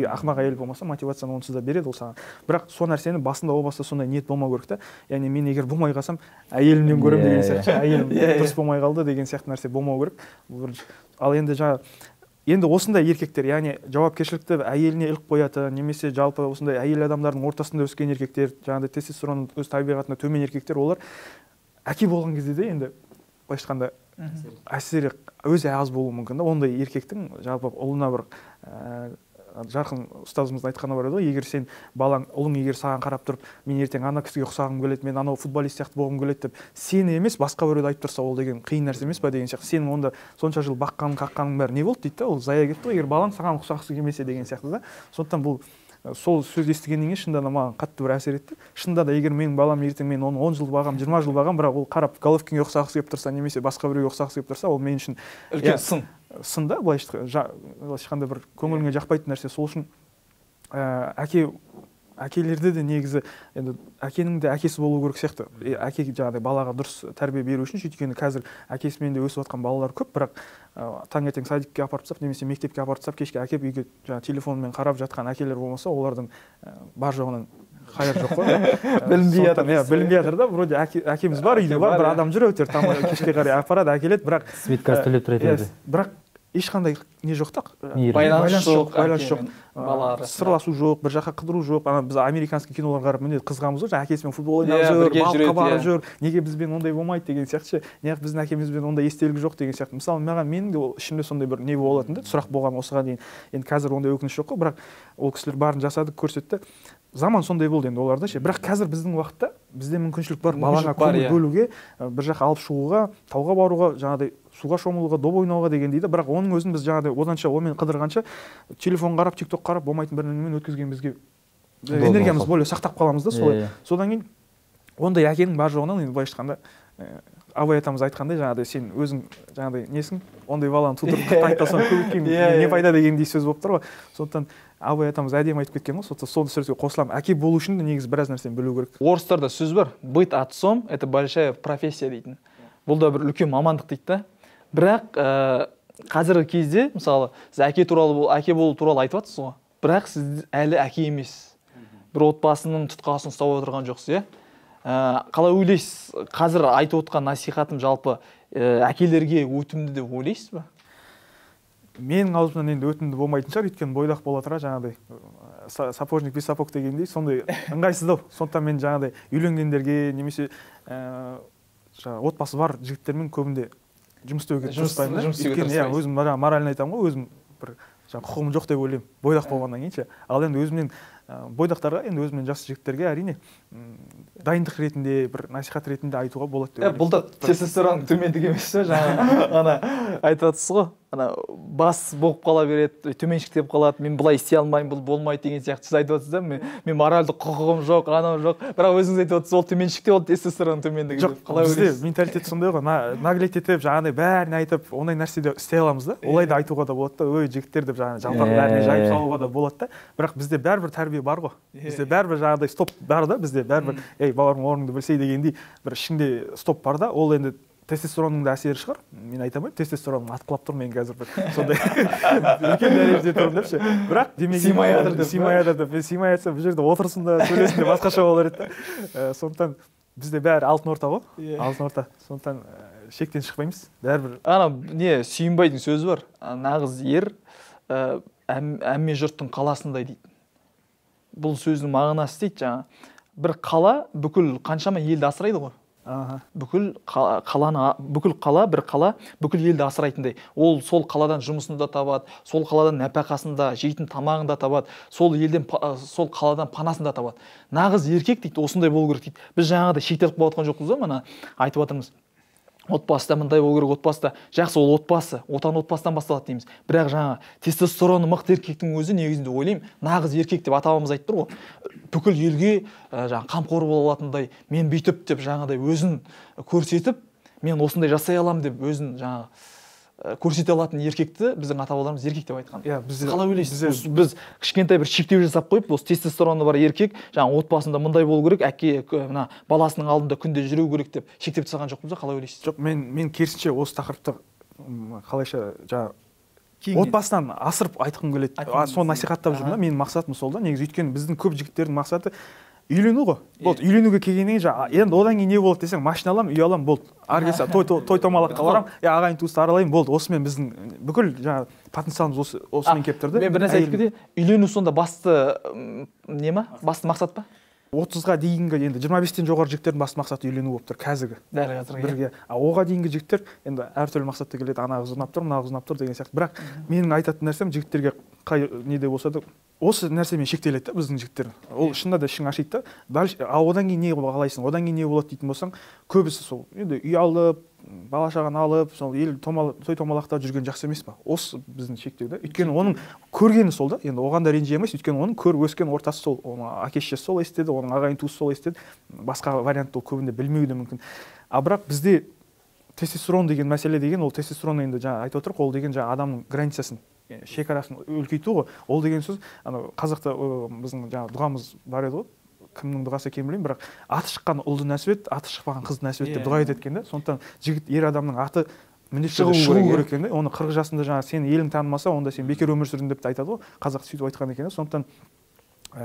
Ақымақ әйел болмаса, мотивацияны онсыз да береді ол саған. Бірақ сол нәрсені басында о баста сондай ниет болмау керек та. Яғни мен егер болмай қалсам, әйелімнен көремін деген сияқты, әйелім дұрыс болмай қалды деген сияқты нәрсе болмау керек. Ал енді осындай еркектер, яғни жауапкершілікті әйеліне іліп қояды, немесе жалпы осындай әйел адамдардың ортасында өскен еркектер, жаңағыдай тестостерон өз табиғатында төмен еркектер, олар әке болған кезде де енді былайша айтқанда әсері өзі аз болуы мүмкін да. Ондай еркектің жалпы ұлына бір жарқын ұстазымыздың айтқаны бар еді ғой, егер сен балаң, ұлың егер саған қарап тұрып, мен ертең ана кісіге ұқсағым келеді, мен анау футболист сияқты болғым келеді деп, сені емес басқа біреуді айтып тұрса, ол деген қиын нәрсе емес па деген сияқты. Сенің онда сонша жыл баққаның, қаққаның бәрі не болды дейді да, ол зая кетті ғой, егер балаң саған ұқсағысы келмесе деген сияқты да. Сондықтан бұл сол сөз естігеннен кейін шынында да маған қатты бір әсер етті. Шынында да егер менің балам ертең мен оны 10 жыл бағам, 20 жыл бағам, бірақ ол қарап Головкинге ұқсағысы келіп тұрса, немесе басқа біреуге ұқсағысы келіп тұрса, ол мен үшін үлкен сын да, былайша айтқанда бір көңіліңе жақпайтын нәрсе. Сол үшін әкелерде де негізі енді әкенің де әкесі болу керек сияқты. Әке жаңағыдай балаға дұрыс тәрбие беру үшін, өйткені қазір әкесімен де өсіп жатқан балалар көп, бірақ таңертең садикке апарып тастап, немесе мектепке апарып тастап, кешке әкеп үйге жаңағы телефонмен қарап жатқан әкелер болмаса, олардың бар жоғынан қайыр жоқ қой. Білінбей жатыр да, вроде әкеміз бар, үйде бар, бір адам жүр өтер, кешке қарай апарады, әкеледі, бірақ светкасы төлеп тұрады. Бірақ ешқандай не жоқ та, байланыс жоқ, сырласу жоқ, бір жаққа қыдыру жоқ. Біз американский киноларға қарап міне қызғанбыз ғой, әкесімен футбол ойнап жүр, балыққа барып жүр, неге бізбен ондай болмайды деген сияқты ше. Неғып біздің әкемізбен ондай естелік жоқ деген сияқты. Мысалы менің де ішімде сондай бір не болатын да, сұрақ болған осыған дейін. Енді қазір ондай өкініш жоқ қой, бірақ ол кісілер барын жасады, көрсетті. Заман сондай болды енді оларда ше. Бірақ қазір біздің уақытта бізде мүмкіншілік бар балаға көңіл бөлуге, бір жаққа алып шығуға, тауға баруға, жаңағыдай суға шомылуға, доп ойнауға деген дейді. Бірақ оның өзін біз жаңағыдай оданша онымен қыдырғанша телефон қарап, TikTok қарап болмайтын бір нәрсемен өткізген бізге энергиямыз более сақтап қаламыз да солай. Содан кейін ондай әкенің бар жоғынан енді былайша айтқанда Абай атамыз айтқандай, жаңағыдай сен өзің жаңағыдай несің, ондай баланы тудырып айтасаң көбейткен не пайда дегендей сөз болып тұр ғой. Сондықтан Абай атамыз әдемі айтып кеткен ғой, сондықтан сол сөзге қосыламын. Әке болу үшін де негізі біраз нәрсені білу керек. Орыстарда сөз бар, быть отцом – это большая профессия дейтін. Бұл да бір үлкен мамандық дейді да. Бірақ қазіргі кезде мысалы сіз әке болу туралы айтып жатсыз ғой, бірақ сіз әлі әке емессіз, бір отбасының тұтқасын ұстап отырған жоқсыз, қалай ойлайсыз, қазір айтып отқан насихатым жалпы әкелерге өтімді деп ойлайсыз ба? Менің аузымнан енді өтімді болмайтын шығар, өйткені бойдақ бола тұра жаңағыдай сапожник без сапог дегендей сондай ыңғайсыздау. Сондықтан мен жаңағыдай үйленгендерге немесе отбасы бар жігіттермен көбінде жұмыс істеуге тырыспаймын да. Өйткені өзім морально айтамын ғой, өзім бір құқығым жоқ деп ойлаймын бойдақ болғаннан кейін ше. Ал енді өзімнен бойдақтарға, енді өзімнен жас жігіттерге әрине дайындық ретінде, бір насихат ретінде айтуға болады деп ойлаймын. Бұл да тестостерон төмендік емес пе? Жаңа ана айтып жатсыз ғой, ана бас болып қала береді, төменшіктеп қалады, мен бұлай істей алмаймын, бұл болмайды деген сияқты сіз айтып жатсыз да, мен моральдық құқығым жоқ, анау жоқ. Бірақ өзіңіз айтып жатсыз, ол төменшікте, ол тестостерон төмендігі. Жоқ, бізде менталитет сондай ғой, наглеть етіп, жаңағыдай бәрін айтып, ондай нәрседе істей аламыз да. Олай да айтуға да болады да, ой жігіттер деп жаңағы жалпақ бәріне жайып салуға да болады да. Бірақ бізде бәрібір тәрбие бар ғой. Бізде бәрібір жаңағыдай стоп бар да, бізде бәрібір, ей бауырым орныңды білсей дегендей бір ішінде стоп бар да. Ол енді тестостеронның да әсері шығар. Мен айта алмаймын, тестостероным атқылап тұр, мен қазір бір сондай үлкен дәрежеде тұрмын депші. бірақ сыймай жатыр деп, мен сыймай жатса бұл жерде отырсын да сөйлесін де басқаша болар еді. Сондықтан бізде бәрі алтын орта ғой, алтын орта. Сондықтан шектен шықпаймыз, бәрібір. Ана не сүйінбайдың сөзі бар, нағыз ер әмме жұрттың қаласындай дейді. Бұл сөздің мағынасы дейді, жаңа бір қала бүкіл қаншама елді асырайды ғой. Бүкіл қала бүкіл елді асырайтындай. Ол сол қаладан жұмысын да табады, сол қаладан нәпақасын да, жейтін тамағын да табады, сол қаладан панасын да табады. Нағыз еркек дейді, осындай болу керек дейді. Біз жаңағыда шектеліп қалып жатқан жоқпыз ба, мына айтып жатырмыз. Отбасыда мындай болу керек, отбасыда. Жақсы, ол отбасы, отан отбасыдан басталады дейміз. Бірақ жаңа тестостероны мықты еркектің өзі негізінде ойлаймын, нағыз еркек деп ата-бабамыз айтып тұр ғой. Бүкіл елге жаңа қамқор бола алатындай, мен бүйтіп деп жаңағыдай өзін көрсетіп, мен осындай жасай аламын деп өзін жаңа көрсете алатын еркекті біздің ата-бабаларымыз еркек деп айтқан. Қалай ойлайсыз? Біз кішкентай бір шектеу жасап қойып, осы тестостероны бар еркек жаңа отбасында мындай болу керек, әке мына баласының алдында күнде жүру керек деп шектеп тастаған жоқпыз ба? Қалай ойлайсыз? Жоқ, мен керісінше осы тақырыпты қалайша жаңа отбасынан асырып айтқым келеді. Соны насихаттап жүрмін да, менің мақсатым сол да. Негізі өйткені біздің көп жігіттердің мақсаты үйлену ғой. Болды, үйленуге келгеннен кейін енді одан кейін не болады десең, машина аламын, үй аламын, болды. Ары келсе той томалаққа барамын, ағайын туысты аралаймын, болды. Осымен біздің бүкіл жаңа потенциалымыз осымен келіп тұрды. Мен бір нәрсе айтып кетейін. Үйлену сонда басты не ма? Басты мақсат па? 30-ға дейінгі енді 25-тен жоғары жігіттердің басты мақсаты үйлену болып тұр қазіргі. Дәл қазіргі. Оға дейінгі жігіттер енді әртүрлі мақсатта келеді, ана қыз ұнап тұр, мына қыз ұнап тұр деген сияқты. Бірақ менің айтатын нәрсем жігіттерге қай неде болса да осы нәрсемен шектеледі да біздің жігіттер. Ол шынында да ішің ашиды да. Одан кейін не қалайсың, одан кейін не болады дейтін болсаң, көбісі сол енді үй алып, бала шағаны алып, сол ел той томалақта жүрген жақсы емес па? Осы біздің шектеу да. Өйткені оның көргені сол да. Енді оған да ренжи емес, өйткені оның көріп өскен ортасы сол. Оның әке-шешесі сол естеді, оның ағайын туысы сол естеді. Басқа вариант ол көбінде білмеуі де мүмкін. Бірақ бізде тестостерон деген мәселе деген, ол тестостерон енді жаңа айтып отырық, ол деген жаңа адамның границасын, шекарасын үлкейту ғой. Ол деген сөз, қазақта біздің жаңа дұғамыз бар еді ғой. Кімнің дұғасы екенін білмеймін, бірақ аты шыққан ұлды нәсіп ет, аты шықпаған қызды нәсіп ет деп дұға етеді екен да. Сондықтан жігіт, ер адамның аты міндетті түрде шығу керек екен да. Оны 40 жасында жаңа сені елің танымаса, онда сен бекер өмір сүрдің деп те айтады ғой. Қазақ сөйтіп айтқан екен. Сондықтан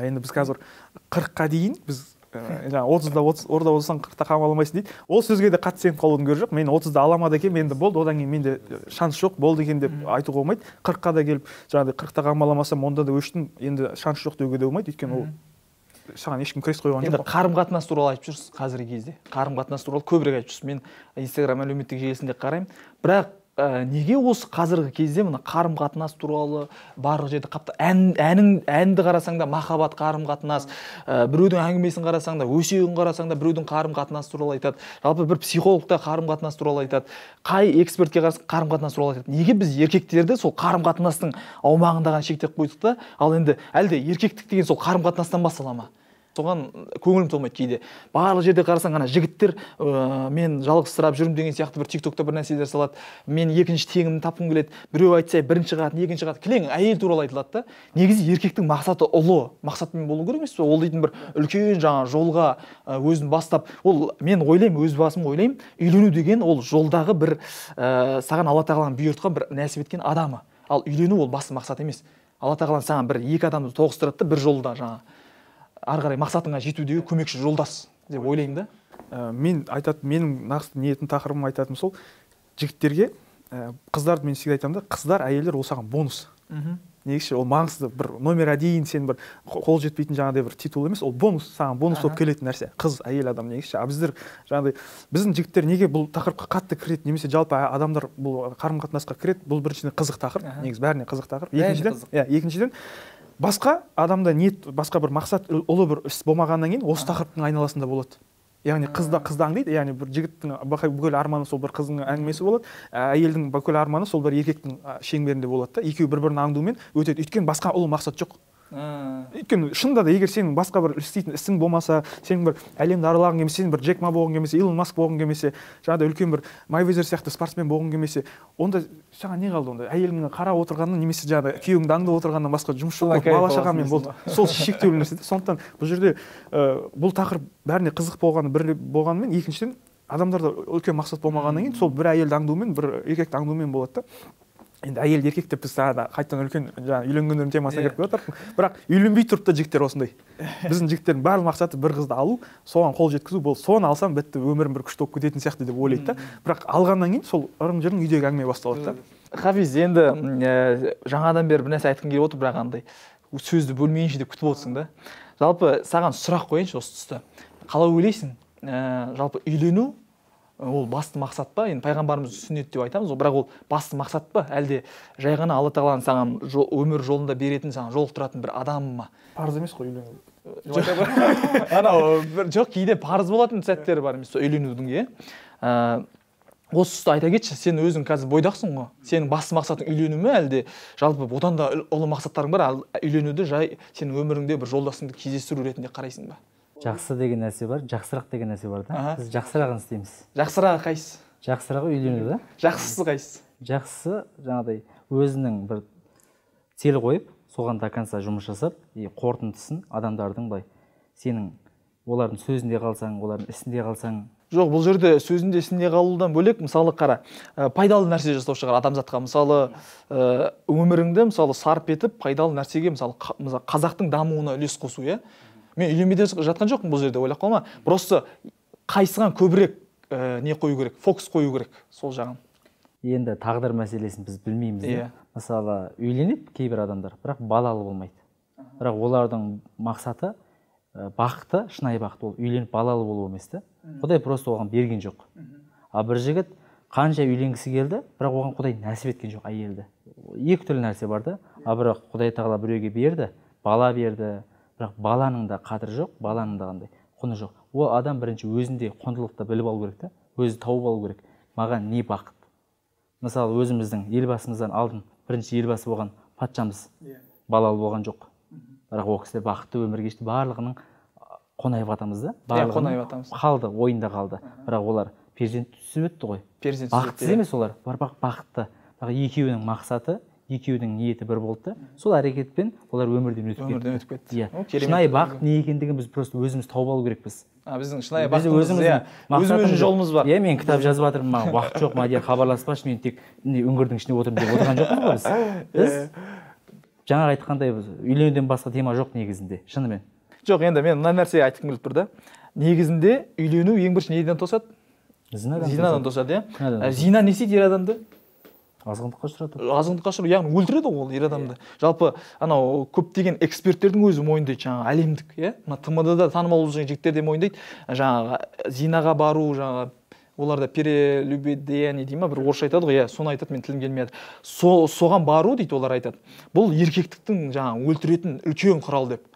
енді біз қазір 40-қа дейін біз жаңа 30-да орда болсаң 40-та қамалмайсың дейді. Ол сөзге де қатты сеніп қалудың керегі жоқ. Мен 30-да аламады екен, менде болды, одан кейін менде шанс жоқ, болды екен деп айтуға болмайды. 40-қа да келіп жаңағыдай 40-та қамаламасам, онда да өштім, енді шанс жоқ деуге де болмайды. Өйткені ол саған ешкім крест қойған жоқ. Енді қарым-қатынас туралы айтып жүрсіз қазіргі кезде. Қарым-қатынас туралы көбірек айтып жүрсіз. Мен Instagram әлеуметтік желісінде қараймын. Бірақ неге осы қазіргі кезде мына қарым-қатынас туралы барлық жерде қапты әнді қарасаң да махаббат қарым-қатынас, біреудің әңгімесін қарасаң да, өсегін қарасаң да біреудің қарым-қатынас туралы айтады. Жалпы бір психолог та қарым-қатынас туралы айтады. Қай экспертке қарасаң қарым-қатынас туралы айтады. Неге біз еркектерді сол қарым-қатынастың аумағында ғана шектеп қойдық та, ал енді әлде еркектік деген сол қарым-қатынастан бастала ма? соған көңілім толмайды кейде. Барлық жерде қарасаң ана жігіттер мен жалғызсырап жүрмін деген сияқты бір тиктокта бір нәрселер салады. Мен екінші теңімді тапқым келеді. Біреу айтса бірінші қатын, екінші қатын. Кілең әйел туралы айтылады да. Негізі еркектің мақсаты ұлы мақсатымен болу керек емес пе? Ол дейтін бір үлкен жаңа жолға өзін бастап, ол мен ойлаймын, өз басым ойлаймын, үйлену деген ол жолдағы бір саған Алла тағаланың бұйыртқан бір нәсіп еткен адамы. Ал үйлену ол басты мақсат емес. Алла тағала саған бір екі адамды тоғыстырады да бір жолда жаңа ары қарай мақсатыңа жетудегі көмекші жолдас деп ойлаймын да. Мен менің нақты ниетім тақырыбым айтатыным сол, жігіттерге қыздарды мен всегда айтамын да, қыздар, әйелдер ол саған бонус. Негізі ол маңызды бір номер один, сен бір қол жетпейтін жаңағыдай бір титул емес, ол бонус, саған бонус болып келетін нәрсе. Қыз, әйел адам негізі. Біздер жаңағыдай біздің жігіттер неге бұл тақырыпқа қатты кіреді, немесе жалпы адамдар бұл қарым-қатынасқа кіреді, бұл біріншіден қызық тақырып, негізі бәріне қызық тақырып. Екіншіден басқа адамда ниет, басқа бір мақсат, ұлы бір іс болмағаннан кейін осы тақырыптың айналасында болады. Яғни қызды аңдайды, яғни бір жігіттің бүкіл арманы сол бір қыздың әңгімесі болады, әйелдің бүкіл арманы сол бір еркектің шеңберінде болады да, екеуі бір-бірін аңдумен өтеді. Өйткені басқа ұлы мақсат жоқ. Өйткені шынында да егер сенің басқа бір істейтін ісің болмаса, сенің бір әлемді аралағың келмесе, сен бір Джек Ма болғың келмесе, Илон Маск болғың келмесе, жаңағыдай үлкен бір Майвезер сияқты спортсмен болғың келмесе, онда саған не қалды онда? Әйеліңнің қарап отырғаннан немесе жаңағыдай күйеуіңді аңдып отырғаннан басқа жұмыс жоқ, бала шағамен болды. Сол шектеулі нәрсе. Сондықтан бұл жерде бұл тақырып бәріне қызық болғанымен, екіншіден адамдарда үлкен мақсат болмағаннан кейін сол бір әйелді аңдумен, бір еркекті аңдумен болады да. Енді әйел еркек деп біз қайтадан үлкен үйленгендердің темасына кіріп жатырмық. Бірақ үйленбей тұрып та жігіттер осындай. Біздің жігіттердің барлық мақсаты бір қызды алу, соған қол жеткізу, бұл соны алсам бітті, өмірім бір күшті болып кететін сияқты деп ойлайды да. Бірақ алғаннан кейін сол ырың-жырың үйдегі әңгіме басталады да. Хафиз, енді жаңадан бері бір нәрсе айтқым келіп отыр, бірақ андай сөзді бөлмейінше деп күтіп отырсың да. Жалпы саған сұрақ қояйыншы осы тұста. Қалай ойлайсың? Жалпы үйлену ол басты мақсат па? Енді пайғамбарымыз сүннет деп айтамыз, бірақ ол басты мақсат па? Әлде жай ғана Алла тағаланың саған өмір жолында беретін, саған жолықтыратын бір адам ма? Парыз емес қой үйлену. Жоқ, кейде парыз болатын сәттері бар емес үйленудің, иә. Осы тұста айта кетші, сен өзің қазір бойдақсың ғой. Сенің басты мақсатың үйлену ме, әлде жалпы одан да ұлы мақсаттарың бар, үйленуді жай сенің өміріңде бір жолдасыңды кездестіру ретінде қарайсың ба? Жақсы деген нәрсе бар, жақсырақ деген нәрсе бар да. Біз жақсырағын істейміз. Жақсырағы қайсысы? Жақсырағы үйлену да. Жақсысы қайсысы? Жақсысы жаңағыдай өзінің бір цел қойып, соған до конца жұмыс жасап, қорытындысын адамдардың былай сенің олардың сөзінде қалсаң, олардың ісінде қалсаң. Жоқ, бұл жерде сөзінде ісінде қалудан бөлек, мысалы қара, пайдалы нәрсе жасау шығар адамзатқа. Мысалы, өміріңді мысалы сарп етіп, пайдалы нәрсеге, мысалы қазақтың дамуына үлес қосу, иә? Мен үйленбей жатқан жоқпын бұл жерде, ойлап қалма. Просто қайсыған көбірек не қою керек, фокус қою керек сол жағын. Енді тағдыр мәселесін біз білмейміз. Мысалы, үйленеді кейбір адамдар, бірақ балалы болмайды. Бірақ олардың мақсаты бақыты, шынайы бақыт ол үйленіп балалы болу емес та. Құдай просто оған берген жоқ. А бір жігіт қанша үйленгісі келді, бірақ оған Құдай нәсіп еткен жоқ әйелді. Екі түрлі нәрсе бар да. А бірақ Құдай тағала біреуге берді, бала берді. Бірақ баланың да қадірі жоқ, баланың да қандай құны жоқ. Ол адам бірінші өзінде құндылықты біліп алу керек та, өзі тауып алу керек. Маған не бақыт? Мысалы, өзіміздің елбасымыздан алдын бірінші елбасы болған патшамыз балалы болған жоқ. Бірақ ол кісі бақытты өмір кешті, барлығының Қонаев атамыз да, барлығының қалды, ойында қалды. Бірақ олар перзент түсіп өтті ғой. Бақытсыз емес олар, бақытты. Бірақ екеуінің мақсаты, екеудің ниеті бір болды. Сол әрекетпен олар өмірден өтіп кетті. Шынайы бақыт не екендігін біз просто өзіміз тауып алу керекпіз. Біздің шынайы бақытымыз жолымыз бар. Мен кітап жазып жатырмын, маған уақыт жоқ, Мадияр хабарласпашы, мен тек үңгірдің ішінде отырмын деп отырған жоқпыз ғой біз. Біз жаңағы айтқандай үйленуден басқа тема жоқ негізінде, шынымен. Жоқ, енді мен мына нәрсе айтқым келіп тұр да. Негізінде үйлену ең бірінші неден тосады? Зинадан тосады, иә. Зина не істейді ер адамды? Азғындыққа ұшыратады. Азғындыққа ұшыратады, яғни өлтіреді ол ер адамды. Жалпы анау көптеген эксперттердің өзі мойындайды, жаңағы әлемдік, иә. Мына ТМД-да танымал болып жүрген жігіттер де мойындайды. Жаңағы зинаға бару, жаңағы оларда перелюбодеяние дейді ма, бір орысша айтады ғой, иә, соны айтады, мен тілім келмейді. Соған бару дейді, олар айтады. Бұл еркектіктің жаңағы өлтіретін үлкен құрал деп.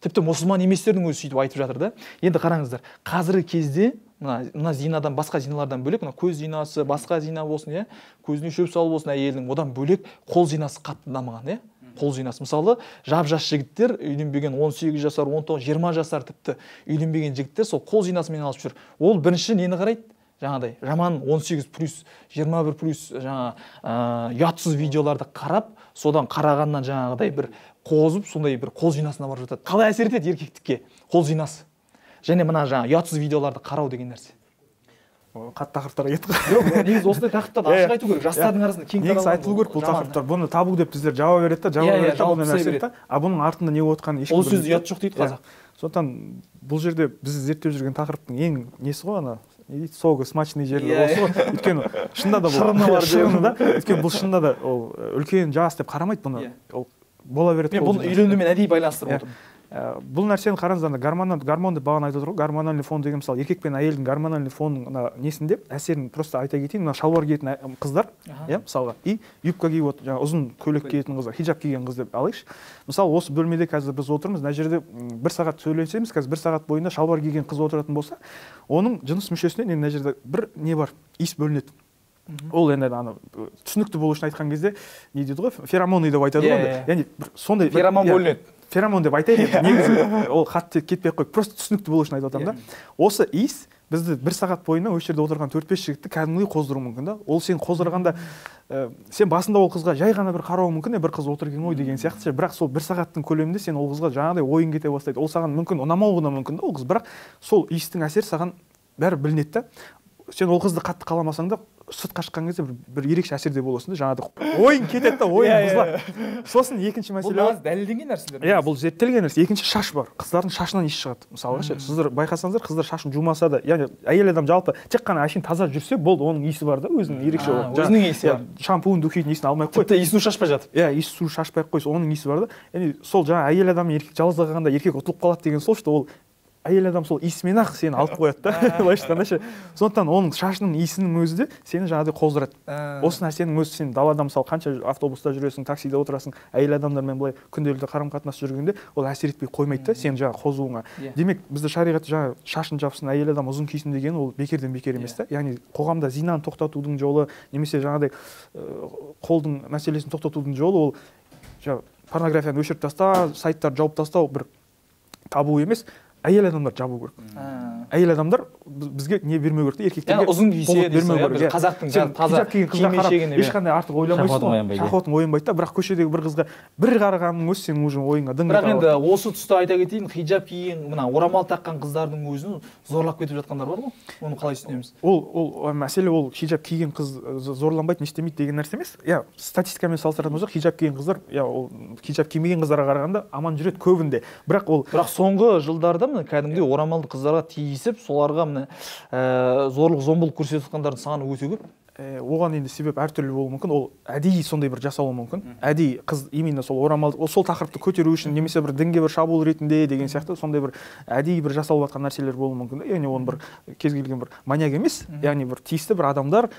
Тіпті мұсылман еместердің өзі сөйтіп айтып жатыр да. Енді қараңыздар, қазіргі кезде мына зинадан, басқа зиналардан бөлек, мына көз зинасы, басқа зина болсын, иә, көзіне шөп салу болсын әйелдің, одан бөлек қол зинасы қатты дамыған, иә. қол жинас. Мысалы, жап-жас жігіттер, үйленбеген 18 жасар, 19, 20 жасар тіпті үйленбеген жігіттер сол қол жинасымен алып жүр. Ол бірінші нені қарайды? Жаңағыдай жаман 18+, 21+, жаңа ұятсыз видеоларды қарап, содан қарағаннан жаңағыдай бір қозып, сондай бір қол жинасына барып жатады. Қалай әсер етеді еркектікке қол жинасы? Және мына жаңа ұятсыз видеоларды қарау деген нәрсе. Қатты тақырыптарға кеттік. Жоқ, негізі осындай тақырыптарды ашық айту керек. Жастардың арасында кең таралған. Негізі айтылу керек бұл тақырыптар. Бұны табу деп біздер жауап береді да, жауап береді да, нәрсе айтады. А бұның артында не болып жатқанын ешкім ол сөз ұят жоқ дейді қазақ. Сондықтан бұл жерде біз зерттеп жүрген тақырыптың ең несі ғой ана соғы смачный жері осы ғой. Өйткені шынында да бұл шырыны да, өйткені бұл шынында да ол үлкен жас деп қарамайды бұны. Ол бола береді. Мен бұны үйленумен әдейі байланыстырып отырмын. Бұл нәрсені қараңыздар, гормон деп бағана айтып отыр ғой. Гормональный фон деген мысалы еркек пен әйелдің гормональный фонына несінде әсерін просто айта кетейін. Мына шалбар киетін қыздар, иә, мысалға, и юбка киіп отыр, жаңа ұзын көйлек киетін қыздар, хиджаб киген қыз деп алайықшы. Мысалы, осы бөлмеде қазір біз отырмыз, мына жерде 1 сағат сөйлесеміз, қазір 1 сағат бойында шалбар киген қыз отыратын болса, оның жыныс мүшесінен мына жерде бір не бар, иіс бөлінеді. Ол енді ана түсінікті болу үшін айтқан кезде не дейді ғой, феромоны деп айтады ғой. Яғни сондай феромон бөлінеді. Феромон деп айтайын, негізі ол қатты кетпей ақ қойып, просто түсінікті болу үшін айтып отырмын да. Осы иіс бізді 1 сағат бойына осы жерде отырған 4-5 жігітті кәдімгідей қоздыруы мүмкін да. Ол сен қоздырғанда сен басында ол қызға жай ғана бір қарауы мүмкін, бір қыз отыр екен ғой деген сияқты, бірақ сол 1 сағаттың көлемінде сен ол қызға жаңағыдай ойың кете бастайды. Ол саған мүмкін ұнамауы да мүмкін да ол қыз, бірақ сол иістің әсері саған бәрі білінеді да. Сен ол қызды қатты қаламасаң да сыртқа шыққан кезде бір ерекше әсерде боласың да, жаңағыдай ойың кетеді да, ойың бұзылады. Сосын екінші мәселе бұл дәлелденген нәрселер. Иә, бұл зерттелген нәрсе. Екінші шаш бар. Қыздардың шашынан иіс шығады. Мысалға ше, сіздер байқасаңыздар, қыздар шашын жумаса да, яғни әйел адам жалпы тек қана әшейін таза жүрсе, болды, оның иісі бар да, өзінің ерекше бар. Өзінің иісі бар. Шампунь, духидің иісін алмай ақ қой. Тіпті иіс су шашпай жатып. Иә, иіс су шашпай ақ қойса, оның иісі бар да. Яғни сол жаңа әйел адам еркек жалғыз қалғанда еркек ұтылып қалады деген сол, что ол әйел адам сол иісімен ақ сені алып қояды да, былайша айтқанда ше. Сондықтан оның шашының иісінің өзі де сені жаңағыдай қоздырады. Осы нәрсенің өзі сен далада мысалы қанша автобуста жүресің, таксиде отырасың, әйел адамдармен былай күнделікті қарым-қатынас жүргенде ол әсер етпей қоймайды да сен жаңа қозуыңа. Демек бізде шариғат жаңа шашын жапсын, әйел адам ұзын кисін деген ол бекерден бекер емес та. Яғни қоғамда зинаны тоқтатудың жолы немесе жаңағыдай қолдың мәселесін тоқтатудың жолы ол жаңа порнографияны өшіріп тастау, сайттарды жауып тастау бір табу емес. Әйел адамдар жабу керек. Әйел адамдар бізге не бермеу керек, еркектерге ұзын кисе бермеу керек. Қазақтың таза киім ешқандай артық ойламайсың. Шахуатың оянбайды да, бірақ көшедегі бір қызға бір қарағанның өзі сенің уже ойыңа дың ете алады. Бірақ енді осы тұста айта кетейін, хиджаб киген, мына орамал таққан қыздардың өзін зорлап кетіп жатқандар бар ғой. Оны қалай түсінеміз? Ол мәселе ол хиджаб киген қыз зорланбайды, не істемейді деген нәрсе емес. Иә, статистикамен салыстыратын болсақ, хиджаб киген қыздар, иә, ол хиджаб кимеген қыздарға қарағанда аман жүреді көбінде. Бірақ соңғы жылдарда кәдімгідей орамалды қыздарға тиісіп, соларға зорлық зомбылық көрсетіп жатқандардың саны өте көп. Оған енді себеп әртүрлі болуы мүмкін. Ол әдейі сондай бір жасауы мүмкін. Әдейі қыз именно сол орамалды, сол тақырыпты көтеру үшін немесе бір дінге бір шабуыл ретінде деген сияқты сондай бір әдейі бір жасалып жатқан нәрселер болуы мүмкін. Яғни оны бір кез келген бір маньяк емес, яғни бір тиісті бір адамдар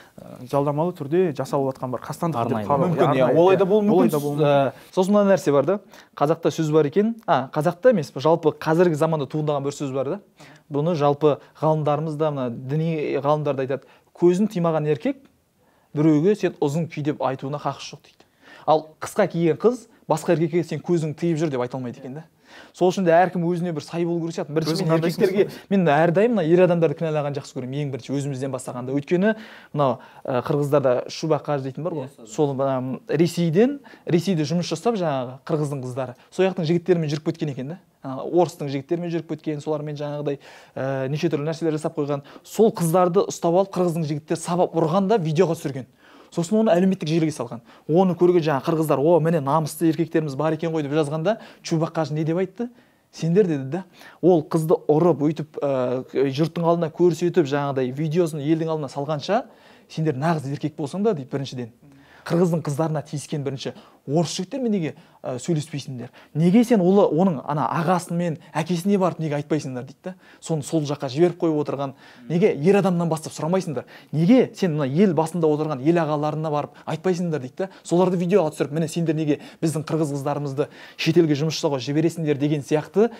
жалдамалы түрде жасалып жатқан бір қастандық деп қарау мүмкін. Олай да болуы мүмкін. Сосын мына нәрсе бар да. Қазақта сөз бар екен. Қазақта емес, жалпы қазіргі заманда туындаған бір сөз бар да. Бұны жалпы ғалымдарымыз да, мына діни ғалымдар да айтады. Көзін тимаған еркек біреуге сен ұзын ки деп айтуына хақысы жоқ дейді. Ал қысқа киген қыз басқа еркекке сен көзің тиіп жүр деп айта алмайды екен да. Сол үшін де әркім өзіне бір сай болу керек сияқты. Бірінші мен еркектерге мен әрдайым мына ер адамдарды кінәлаған жақсы көремін. Ең бірінші өзімізден бастағанда. Өйткені мынау қырғыздарда шубақаж дейтін бар ғой. Сол Ресейде жұмыс жасап жаңағы қырғыздың қыздары. Сол жақтың жігіттерімен жүріп кеткен екен да. Орыстың жігіттерімен жүріп кеткен, солармен жаңағыдай неше түрлі нәрселер жасап қойған. Сол қыздарды ұстап алып қырғыздың жігіттері сабап ұрғанда видеоға түсірген. Сосын оны әлеуметтік желіге салған. Оны көрген жаңа қырғыздар, о, міне намысты еркектеріміз бар екен ғой деп жазғанда, Чубақаж не деп айтты? Сендер деді да. Ол қызды ұрып, өйтіп, жұрттың алдына көрсетіп, жаңағыдай видеосын елдің алдына салғанша, сендер нағыз еркек болсаң да, дейді біріншіден. Қырғыздың қыздарына тиіскен бірінші орыс жігіттермен неге сөйлеспейсіңдер? Неге сен оның ана ағасымен, әкесіне барып неге айтпайсыңдар дейді да. Соны сол жаққа жіберіп қойып отырған. Неге ер адамнан бастап сұрамайсыңдар? Неге сен мына ел басында отырған ел ағаларына барып айтпайсыңдар дейді да. Соларды видеоға түсіріп, міне сендер неге біздің қырғыз қыздарымызды шетелге жұмыс жасауға жібересіңдер деген сияқты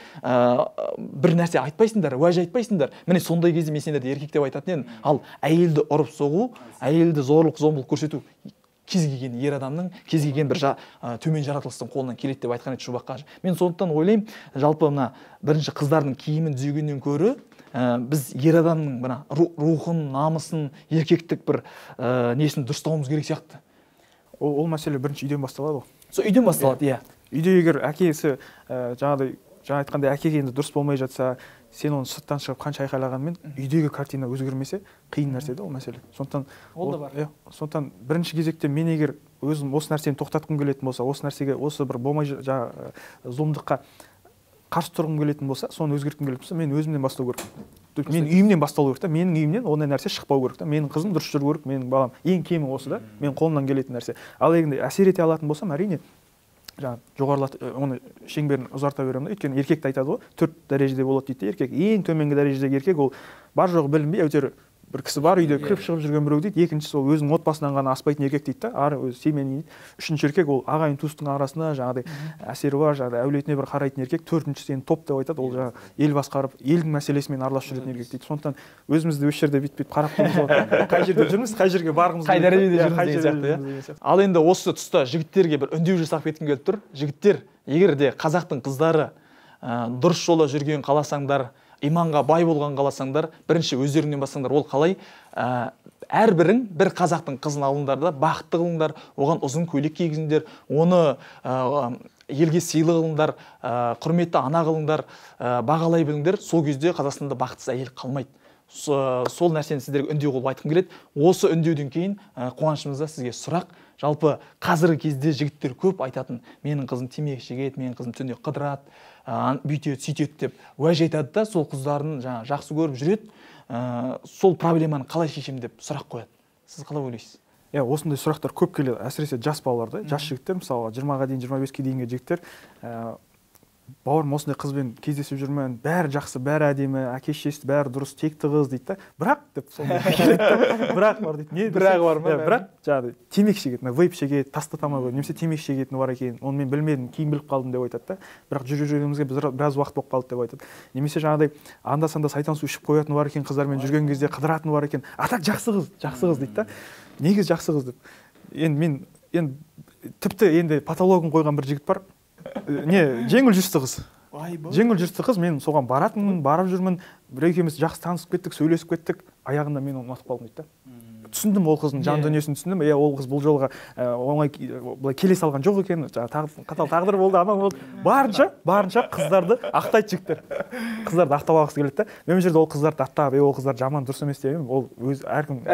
бір нәрсе айтпайсыңдар, уәж айтпайсыңдар. Міне сондай кезде мен сендерді еркек деп айтатын едім. Ал әйелді ұрып соғу, әйелді зорлық зомбылық көрсету кез келген ер адамның, кез келген бір төмен жаратылыстың қолынан келеді деп айтқан еді Шубақ қажы. Мен сондықтан ойлаймын, жалпы мына бірінші қыздардың киімін түзегеннен көрі біз ер адамның мына рухын, намысын, еркектік бір несін дұрыстауымыз керек сияқты. Ол мәселе бірінші үйден басталады ғой. Сол үйден басталады, иә. Үйде егер әкесі жаңа айтқандай әкеге енді дұрыс болмай жатса, сен оны сырттан шығып қанша айқайлағанмен үйдегі картина өзгермесе қиын нәрсе да ол мәселе. Сондықтан ол да бар. Сондықтан бірінші кезекте мен егер өзім осы нәрсені тоқтатқым келетін болса, осы нәрсеге, осы бір болмай зұлымдыққа қарсы тұрғым келетін болса, соны өзгерткім келетін болса, мен өзімнен бастау керекпін. Мен үйімнен басталу керек та, менің үйімнен ондай нәрсе шықпау керек та, менің қызым дұрыс жүру керек, менің балам ең кемі осы да, мен қолымнан келетін нәрсе. Ал егер әсер ете алатын болсам, әрине жоғарылат оны шеңберін ұзарта беремін да, өйткені еркекті айтады ғой, 4 дәрежеде болады дейді. Еркек ең төменгі дәрежедегі еркек, ол бар жоғы білінбей әйтеуір бір кісі бар үйде кіріп шығып жүрген біреу дейді. Екіншісі ол өзінің отбасынан ғана аспайтын еркек дейді да, ары өзі семьяның дейді. Үшінші еркек ол ағайын туыстың арасында жаңағыдай әсері бар, жаңағыдай әулетіне бір қарайтын еркек. Төртіншісі енді топ деп айтады, ол жаңағы ел басқарып, елдің мәселесімен араласып жүретін еркек дейді. Сондықтан өзімізді осы жерде бүйтіп қарап тұрмыз, қай жерде жүрміз, қай жерге барғымыз, қай дәрежеде жүрміз деген сияқты. Ал енді осы тұста жігіттерге бір үндеу жасап кеткім келіп тұр. Жігіттер, егер де қазақтың қыздары дұрыс жолда жүрген қаласаңдар, иманға бай болған қаласаңдар, бірінші өздеріңнен бастаңдар. Ол қалай? Әрбірің бір қазақтың қызын алыңдар да, бақытты қылыңдар, оған ұзын көйлек кигізіңдер, оны елге сыйлы қылыңдар, құрметті ана қылыңдар, бағалай біліңдер. Сол кезде Қазақстанда бақытсыз әйел қалмайды. Сол нәрсені сіздерге үндеу қылып айтқым келеді. Осы үндеуден кейін қуанышымызда сізге сұрақ. Жалпы қазіргі кезде жігіттер көп айтатын, менің қызым темекі шегеді, менің қызым түнде қыдырады, бүйтеді, сөйтеді деп уәж айтады да, сол қыздарын жақсы көріп жүреді. Сол проблеманы қалай шешем деп сұрақ қояды. Сіз қалай ойлайсыз? Осындай сұрақтар көп келеді, әсіресе жас балаларда, жас жігіттер, мысалы 20-ға дейін, 25-ке дейінгі жігіттер, бауырым осындай қызбен кездесіп жүрмін, бәрі жақсы, бәрі әдемі, әке-шешесі бәрі дұрыс, текті қыз дейді да. Бірақ деп сондай бірақ бар дейді. Не бірағы бар ма? Бірақ жаңағы темекі шегеді, вейп шегеді, тастатамай қойды, немесе темекі шегетіні бар екен. Оны мен білмедім, кейін біліп қалдым деп айтады да. Бірақ жүргенімізге біраз уақыт болып қалды деп айтады. Немесе жаңағыдай анда-санда сайтан су ішіп қоятыны бар екен, қыздармен жүрген кезде қыдыратыны бар екен. Атак жақсы қыз дейді да. Негізі жақсы қыз деп. Енді мен тіпті енді патологын қойған бір жігіт бар. Жеңіл жүрісті қыз. Жеңіл жүрісті қыз, мен соған баратынмын, барып жүрмін, бір екеуміз жақсы танысып кеттік, сөйлесіп кеттік, аяғында мен оны ұнатып қалдым дейді да. Түсіндім ол қыздың жан дүниесін түсіндім. Ол қыз бұл жолға оңай былай келе салған жоқ екен, қатал тағдыр болды, анау болды. Барынша қыздарды ақтайды жігіттер. Қыздарды ақтап алғысы келеді да. Мен жерде ол қыздарды аттап, ол қыздар жаман дұрыс емес демеймін. Ол әркім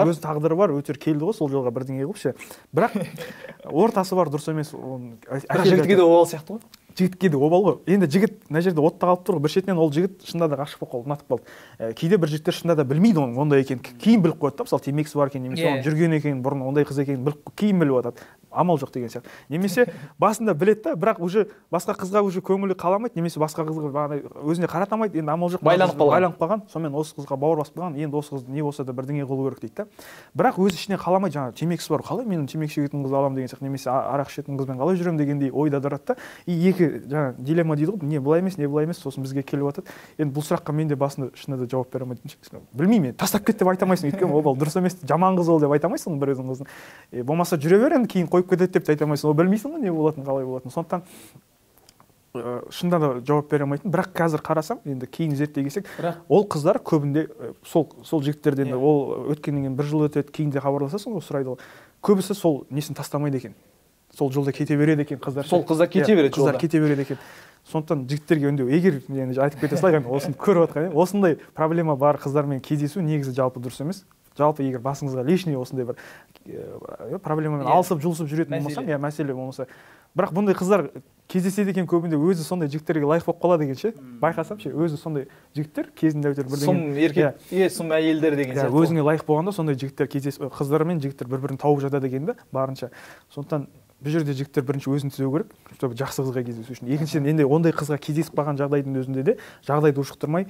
өз тағдыры бар, өтер келді ғой сол жолға бірдеңе қылып ше. Бірақ ортасы бар, дұрыс емес. Жігітке де обал сияқты ғой. Жігітке де обал ғой. Енді жігіт мына жерде отта қалып тұр ғой. Бір шетінен ол жігіт шынында да ғашық болып қалды, ұнатып қалды. Кейде бір жігіттер шынында да білмейді оның ондай екенін. Кейін біліп қояды да, мысалы темекісі бар екен, немесе оның жүрген екенін, бұрын ондай қыз екенін біліп кейін біліп жатады. Амал жоқ деген сияқты. Немесе басында біледі да, бірақ уже басқа қызға уже көңілі қаламайды, немесе басқа қызға өзіне қарата алмайды. Енді амал жоқ, байланып қалған. Сонымен осы қызға бауыр басып қалған. Енді осы қыз не болса да бірдеңе қылу керек дейді да. Бірақ өзі ішіне қаламайды, жаңағы темекісі бар, қалай мен темекі шегетін қызды аламын деген сияқты, немесе арақ ішетін қызбен қалай жүремін дегендей ойда тұрады да. Екі жаңағы дилемма дейді ғой, не былай емес, сосын бізге келіп жатады. Енді бұл сұраққа мен де басында шынында да жауап бере алмайтын. Білмеймін, тастап кет деп айта алмайсың, өйткені ол дұрыс емес, жаман қыз ол деп айта алмайсың бір өзің қыздың. Болмаса жүре бер енді, кейін қойып кетеді деп те айта алмайсың. Ол білмейсің ғой не болатынын, қалай болатынын. Сондықтан шынында да жауап бере алмайтын. Бірақ қазір қарасам, енді кейін зерттей келсек, ол қыздар көбінде сол жігіттерден ол өткеннен кейін 1 жыл өтеді, кейін де хабарласасың, ол сұрайды ғой. Көбісі сол несін тастамайды екен. Сол жолда кете береді екен қыздар. Сол қыздар кете береді жолда. Қыздар кете береді екен. Сондықтан жігіттерге үндеу, егер енді айтып кете салайық, осыны көріп отқан, осындай проблема бар қыздармен кездесу негізі жалпы дұрыс емес. Жалпы егер басыңызға лишний осындай бір проблемамен алысып жұлысып жүретін болмасам, мәселе болмаса, бірақ бұндай қыздар кездеседі екен көбінде, өзі сондай жігіттерге лайық болып қалады екен ше. Байқасам ше, өзі сондай жігіттер кезінде өтер бірдеңе. Сұм еркек, сұм әйелдер деген сияқты. Өзіңе лайық болғанда сондай жігіттер кездесіп, қыздар мен жігіттер бір-бірін тауып жатады екен да, барынша. Сондықтан бұл жерде жігіттер бірінші өзін түзеу керек, чтобы жақсы қызға кездесу үшін. Екіншіден, енді ондай қызға кездесіп қалған жағдайдың өзінде де жағдайды ушықтырмай,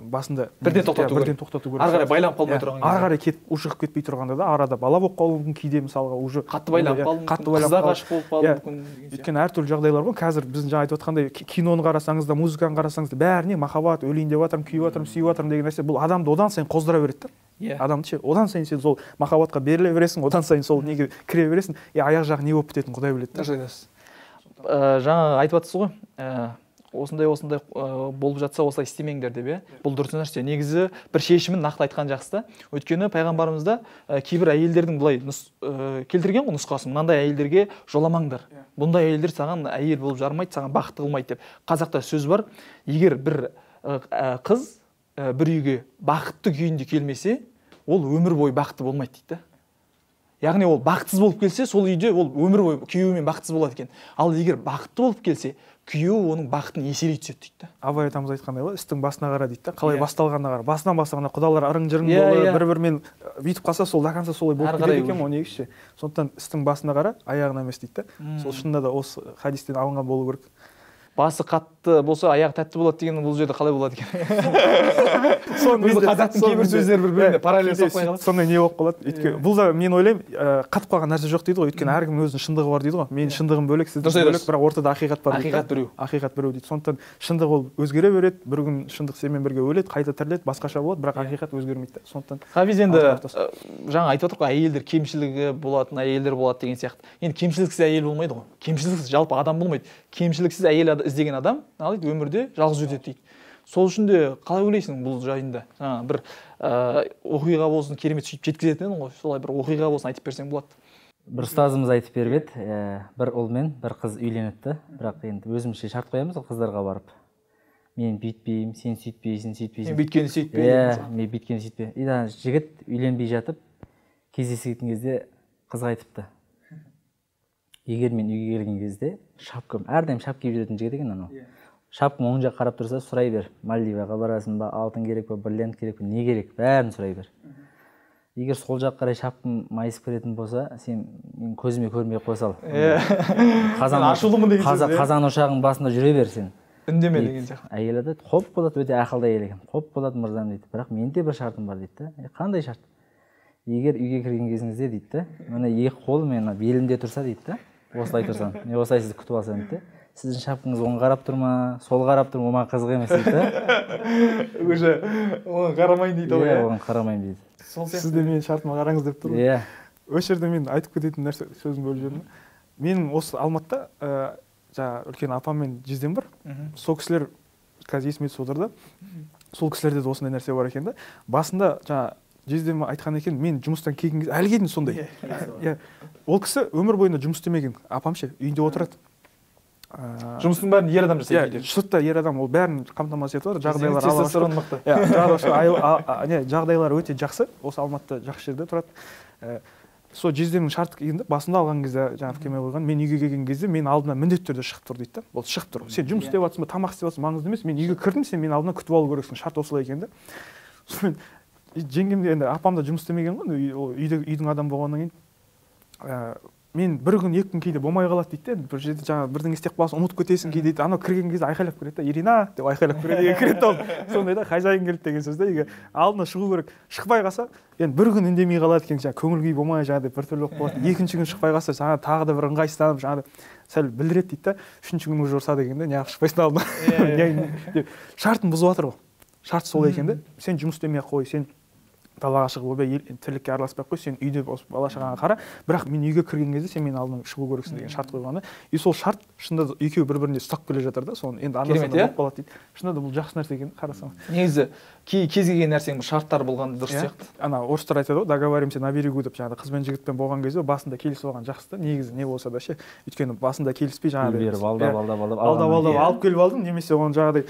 басында бірден тоқтату керек. Ары қарай байланып қалмай тұрған. Ары қарай кетіп ушығып кетпей тұрғанда да арада бала болып қалуы мүмкін, кейде мысалға уже қатты байланып қалды, қызға ғашық болып қалды мүмкін. Өйткені әртүрлі жағдайлар ғой. Қазір біздің жаңа айтып отқандай киноны қарасаңыз да, музыканы қарасаңыз да, бәріне махаббат, өлейін деп жатырмын, күйіп жатырмын, сүйіп жатырмын деген нәрсе бұл адамды одан сайын қоздыра береді да. адамды ше, одан сайын сен сол махаббатқа беріле бересің, одан сайын сол неге кіре бересің, аяқ жағы не болып бітетінін Құдай біледі. Дұрыс айтасыз. Жаңа айтып жатсыз ғой, осындай болып жатса осылай істемеңдер деп, бұл дұрыс нәрсе. Негізі бір шешімін нақты айтқан жақсы да. Өйткені пайғамбарымызда кейбір әйелдердің былай келтірген ғой нұсқасын, мынандай әйелдерге жоламаңдар. Бұндай әйелдер саған әйел болып жармайды, саған бақытты қылмайды деп. Қазақта сөз бар, егер бір қыз бір үйге бақытты күйінде келмесе, ол өмір бойы бақытты болмайды дейді. Яғни ол бақытсыз болып келсе, сол үйде ол өмір бойы күйеуімен бақытсыз болады екен. Ал егер бақытты болып келсе, күйеуі оның бақытын еселей түседі дейді. Абай атамыз айтқандай ғой, істің басына қара дейді. Қалай басталғанына қара. Басынан бастағанда құдалар ырың-жырың болып, бір-бірімен бүйтіп қалса, сол дақанса солай болып кетеді екен, оны негізі. Сондықтан істің басына қара, аяғына емес дейді. Сол шынында да осы хадистен алынған болу керек. Басы қатты болса, аяғы тәтті болады деген бұл жерде қалай болады екен? Қазақтың кейбір сөздері бір-біріне параллель соқпай қалады. Сондай не болып қалады. Өйткені бұл да мен ойлаймын, қатып қалған нәрсе жоқ дейді ғой. Өйткені әркімнің өзінің шындығы бар дейді ғой. Менің шындығым бөлек, сіздің бөлек, бірақ ортада ақиқат бар дейді. Ақиқат біреу. Ақиқат біреу дейді. Сондықтан шындық ол өзгере береді. Бір күн шындық сенімен бірге өледі, қайта тіріледі, басқаша болады, бірақ ақиқат өзгермейді. Сондықтан Хафиз енді жаңа айтып отырмық қой, әйелдер кемшілігі болатын әйелдер болады деген сияқты. Енді кемшіліксіз әйел болмайды ғой. Кемшіліксіз жалпы адам болмайды. Кемшіліксіз әйел іздеген адам өмірде жалғыз өтеді дейді. Сол үшін де қалай ойлайсың бұл жайында? Жаңа бір оқиға болсын, керемет сөйтіп жеткізетін ғой. Солай бір оқиға болсын айтып берсең болады. Бір ұстазымыз айтып беріп еді, бір ұл мен бір қыз үйленіпті, бірақ енді өзімізше шарт қоямыз қыздарға барып. Мен бүйтпеймін, сен сөйтпейсің, сөйтпейсің. Мен бүйткені сөйтпеймін. Мен бүйткені сөйтпеймін. Жігіт үйленбей жатып, кездескен кезде қызға айтыпты. Егер мен үйге келген кезде шапкам, әрдайым шап киіп жүретін жігіт екен анау. Шапкам оң жаққа қарап тұрса, сұрай бер. Мальдиваға барасың ба, алтын керек па, бриллиант керек па, не керек? Бәрін сұрай бер. Егер сол жаққа қарай шапкам майысып кететін болса, сен мен көзіме көрмей қоя сал. Қазан ошағының басында жүре бер сен. Үндеме деген сияқты. Әйел айтады, "Хоп болады, өте ақылды әйел екен. Хоп болады мырзам" дейді. Бірақ менде бір шартым бар дейді. Қандай шарт? Егер үйге кірген кезіңізде дейді, мына екі қолым мен белімде тұрса дейді, осылай тұрсам, мен осылай сізді күтіп алсам дейді. Сіздің шапкаңыз оң қарап тұр ма, сол қарап тұр ма, оған қызық емес дейді. Уже оған қарамайын дейді ғой. Иә, оған қарамайын дейді. Сіз де менің шартыма қараңыз деп тұр ғой. Иә. Осы жерде мен айтып кететін нәрсе, сөзім бөліп жібердім. Менің осы Алматыда жаңа үлкен апам мен жездем бар. Сол кісілер қазір есіме түсіп отыр да. Сол кісілерде де осындай нәрсе бар екен да. Басында жаңа жездем айтқан екен, мен жұмыстан келген кезде әлі дейін сондай. Иә. Ол кісі өмір бойында жұмыс істемеген. Апам ше үйінде отырады. Жұмыстың бәрін ер адам жасайды. Иә, сыртта ер адам ол бәрін қамтамасыз етіп отыр. Жағдайлары өте жақсы. Осы Алматыда жақсы жерде тұрады. Сол жездемнің шарты келгенде басында алған кезде жаңа кеме қойған, мен үйге келген кезде мен алдына міндетті түрде шығып тұр дейді да. Ол шығып тұр. Сен жұмыс істеп жатсың ба, тамақ істеп жатсың, маңызды емес. Мен үйге кірдім, сен мені алдына күтіп алу керексің. Шарт осылай екен да. Сонымен жеңгем де енді апам да жұмыс істемеген ғой, үйдің адамы болғаннан кейін мен бір күн екі күн кейде болмай қалады дейді. Бір жерде жаңа бірдеңе істеп қаласың, ұмытып кетесің кейде дейді. Анау кірген кезде айқайлап кіреді да, Ирина деп айқайлап кіреді. Кіреді ол. Сондай да, хозяин келді деген сөз да. Үйге алдына шығу керек. Шықпай қалса, енді бір күн үндемей қалады екен, жаңа көңіл күй болмай жаңа біртүрлі болып қалады. Екінші күн шықпай қалса, жаңа тағы да бір ыңғайсызданып, жаңа сәл білдіреді дейді да. Үшінші күн уже ұрсады екен да, неғып шықпайсың алдына. Шартын бұзып жатыр ғой. Шарт сол екен да. Сен жұмыс істемей қой, сен далаға шығып тірлікке араласпай қой, сен үйде бала шағаңа қара, бірақ мен үйге кірген кезде сен менің алдыма шығу керексің деген шарт қойған да. И сол шарт шынында екеуі бір-біріне ұстап келе жатыр да, соны енді анда-санда болып қалады дейді. Шынында бұл жақсы нәрсе екен, қарасаң. Негізі кез келген нәрсенің шарттары болған дұрыс сияқты. Ана орыстар айтады ғой, договоримся на берегу деп, жаңағы қыз бен жігітпен болған кезде басында келісіп алған жақсы да, негізі не болса да ше. Өйткені басында келіспей жаңағыдай алдап алып келіп алдың, немесе оны жаңағыдай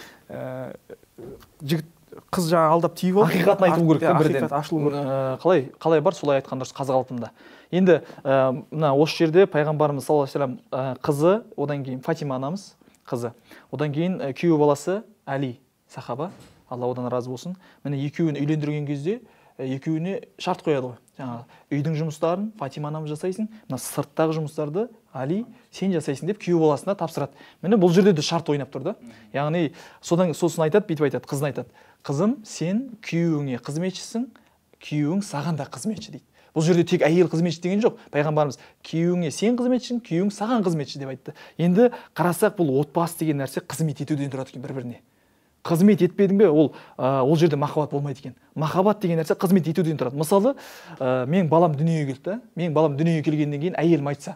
жігіт қыз жаңа алдап тиіп алды. Ақиқатын айту керек та бірден. Ақиқат ашылу керек. Қалай бар, солай айтқан дұрыс қазақ қалпында. Енді мына осы жерде пайғамбарымыз саллаллаху алейхи вассалам қызы, одан кейін Фатима анамыз қызы, одан кейін күйеу баласы Али сахаба, Алла одан разы болсын. Міне екеуін үйлендірген кезде екеуіне шарт қояды ғой. Жаңағы үйдің жұмыстарын Фатима анамыз жасайсың, мына сырттағы жұмыстарды Али сен жасайсың деп күйеу баласына тапсырады. Міне бұл жерде де шарт ойнап тұр да. Яғни сосын айтады, бүйтіп айтады, қызын айтады. Қызым, сен күйеуіңе қызметшісің, күйеуің саған да қызметші дейді. Бұл жерде тек әйел қызметші деген жоқ. Пайғамбарымыз күйеуіңе сен қызметшісің, күйеуің саған қызметші деп айтты. Енді қарасақ, бұл отбасы деген нәрсе қызмет етуден тұрады екен бір-біріне. қызмет етпедің бе, ол жерде махаббат болмайды екен. Махаббат деген нәрсе қызмет етуден тұрады. Мысалы, менің балам дүниеге келді. Менің балам дүниеге келгеннен кейін әйелім айтса,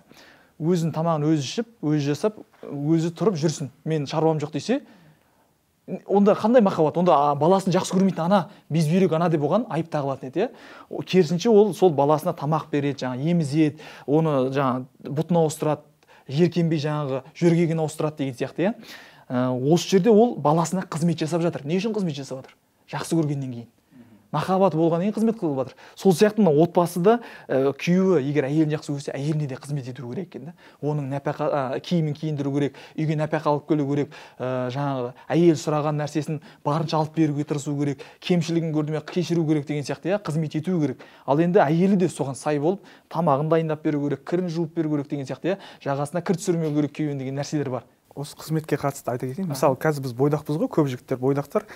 өзінің тамағын өзі ішіп, өзі жасап, өзі тұрып жүрсін, мен шаруам жоқ десе, онда қандай махаббат? Онда баласын жақсы көрмейтін ана, безбүйрек ана деп оған айып тағылатын еді, иә. Керісінше ол сол баласына тамақ береді, жаңағы емізеді, оны жаңағы бұтын ауыстырады, жеркенбей жаңағы жөргегін ауыстырады деген сияқты, иә. Осы жерде ол баласына қызмет жасап жатыр. Не үшін қызмет жасап жатыр? Жақсы көргеннен кейін. Махаббат болғаннан кейін қызмет қылып жатыр. Сол сияқты мына отбасыда күйеуі егер әйелін жақсы көрсе, әйеліне де қызмет ету керек екен да. Оның нәпақа киімін киіндіру керек, үйге нәпақа алып келу керек, жаңағы әйел сұраған нәрсесін барынша алып беруге тырысу керек, кемшілігін көрді ме кешіру керек деген сияқты, иә, қызмет ету керек. Ал енді әйелі де соған сай болып, тамағын дайындап беру керек, кірін жуып беру керек деген сияқты, иә, жағасына кір түсірмеу керек күйеуін деген нәрселер бар. Осы қызметке қатысты айта кетейін. Мысалы, қазір біз бойдақпыз ғой, көп жігіттер бойдақтар.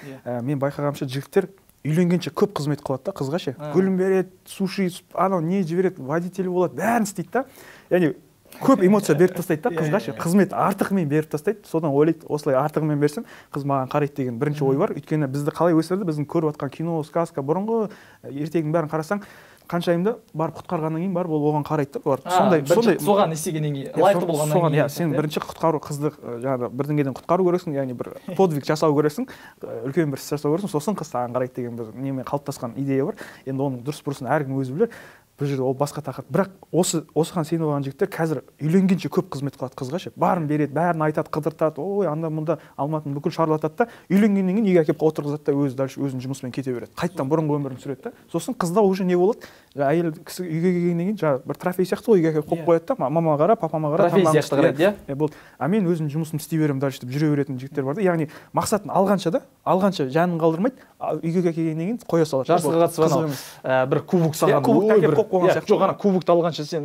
Мен байқағанымша жігіттер үйленгенше көп қызмет қылады да, қызға ше. Гүлін береді, суши, анау не жібереді, водителі болады, бәрін істейді да. Яғни көп эмоция беріп тастайды да қызға ше. Қызмет артығымен беріп тастайды. Содан ойлайды, осылай артығымен берсем, қыз маған қарайды деген бірінші ой бар. Өйткені бізді қалай өсірді, біздің көріп жатқан кино, сказка, бұрынғы ертегінің бәрін қарасаң, қаншайымда барып құтқарғаннан кейін барып ол оған қарайды да. Сондай соған істегеннен кейін лайықты болғаннан кейін. Сен бірінші құтқару қызды жаңағы бірдеңеден құтқару керексің, яғни бір подвиг жасау керексің, үлкен бір іс жасау керексің, сосын қыз саған қарайды деген бір немен қалыптасқан идея бар. Енді оның дұрыс бұрысын әркім өзі білер. Бұл жерде ол басқа тақырып. Бірақ осыған сеніп алған жігіттер қазір үйленгенше көп қызмет қылады қызға ше. Барын береді, бәрін айтады, қыдыртады, ой, анда мұнда алматыны бүкіл шарлатады да, үйленгеннен кейін үйге әкеліп отырғызады да, өзі дальше өзінің жұмысымен кете береді. Қайтадан бұрынғы өмірін сүреді да. Сосын қызда уже не болады? Әйел кісі үйге келгеннен кейін жаңағы бір трофей сияқты ғой, үйге әкеліп қойып қояды да, мамама қара, папама қара, трофей сияқты қарайды, иә. Болды. Мен өзім жұмысымды істей беремін дальше деп жүре беретін жігіттер бар да. Яғни мақсатын алғанша жанын қалдырмайды, үйге келгеннен кейін қоя салады. Жарысқа қатысып бір кубок саған. Жоқ, ана кубокты алғанша сен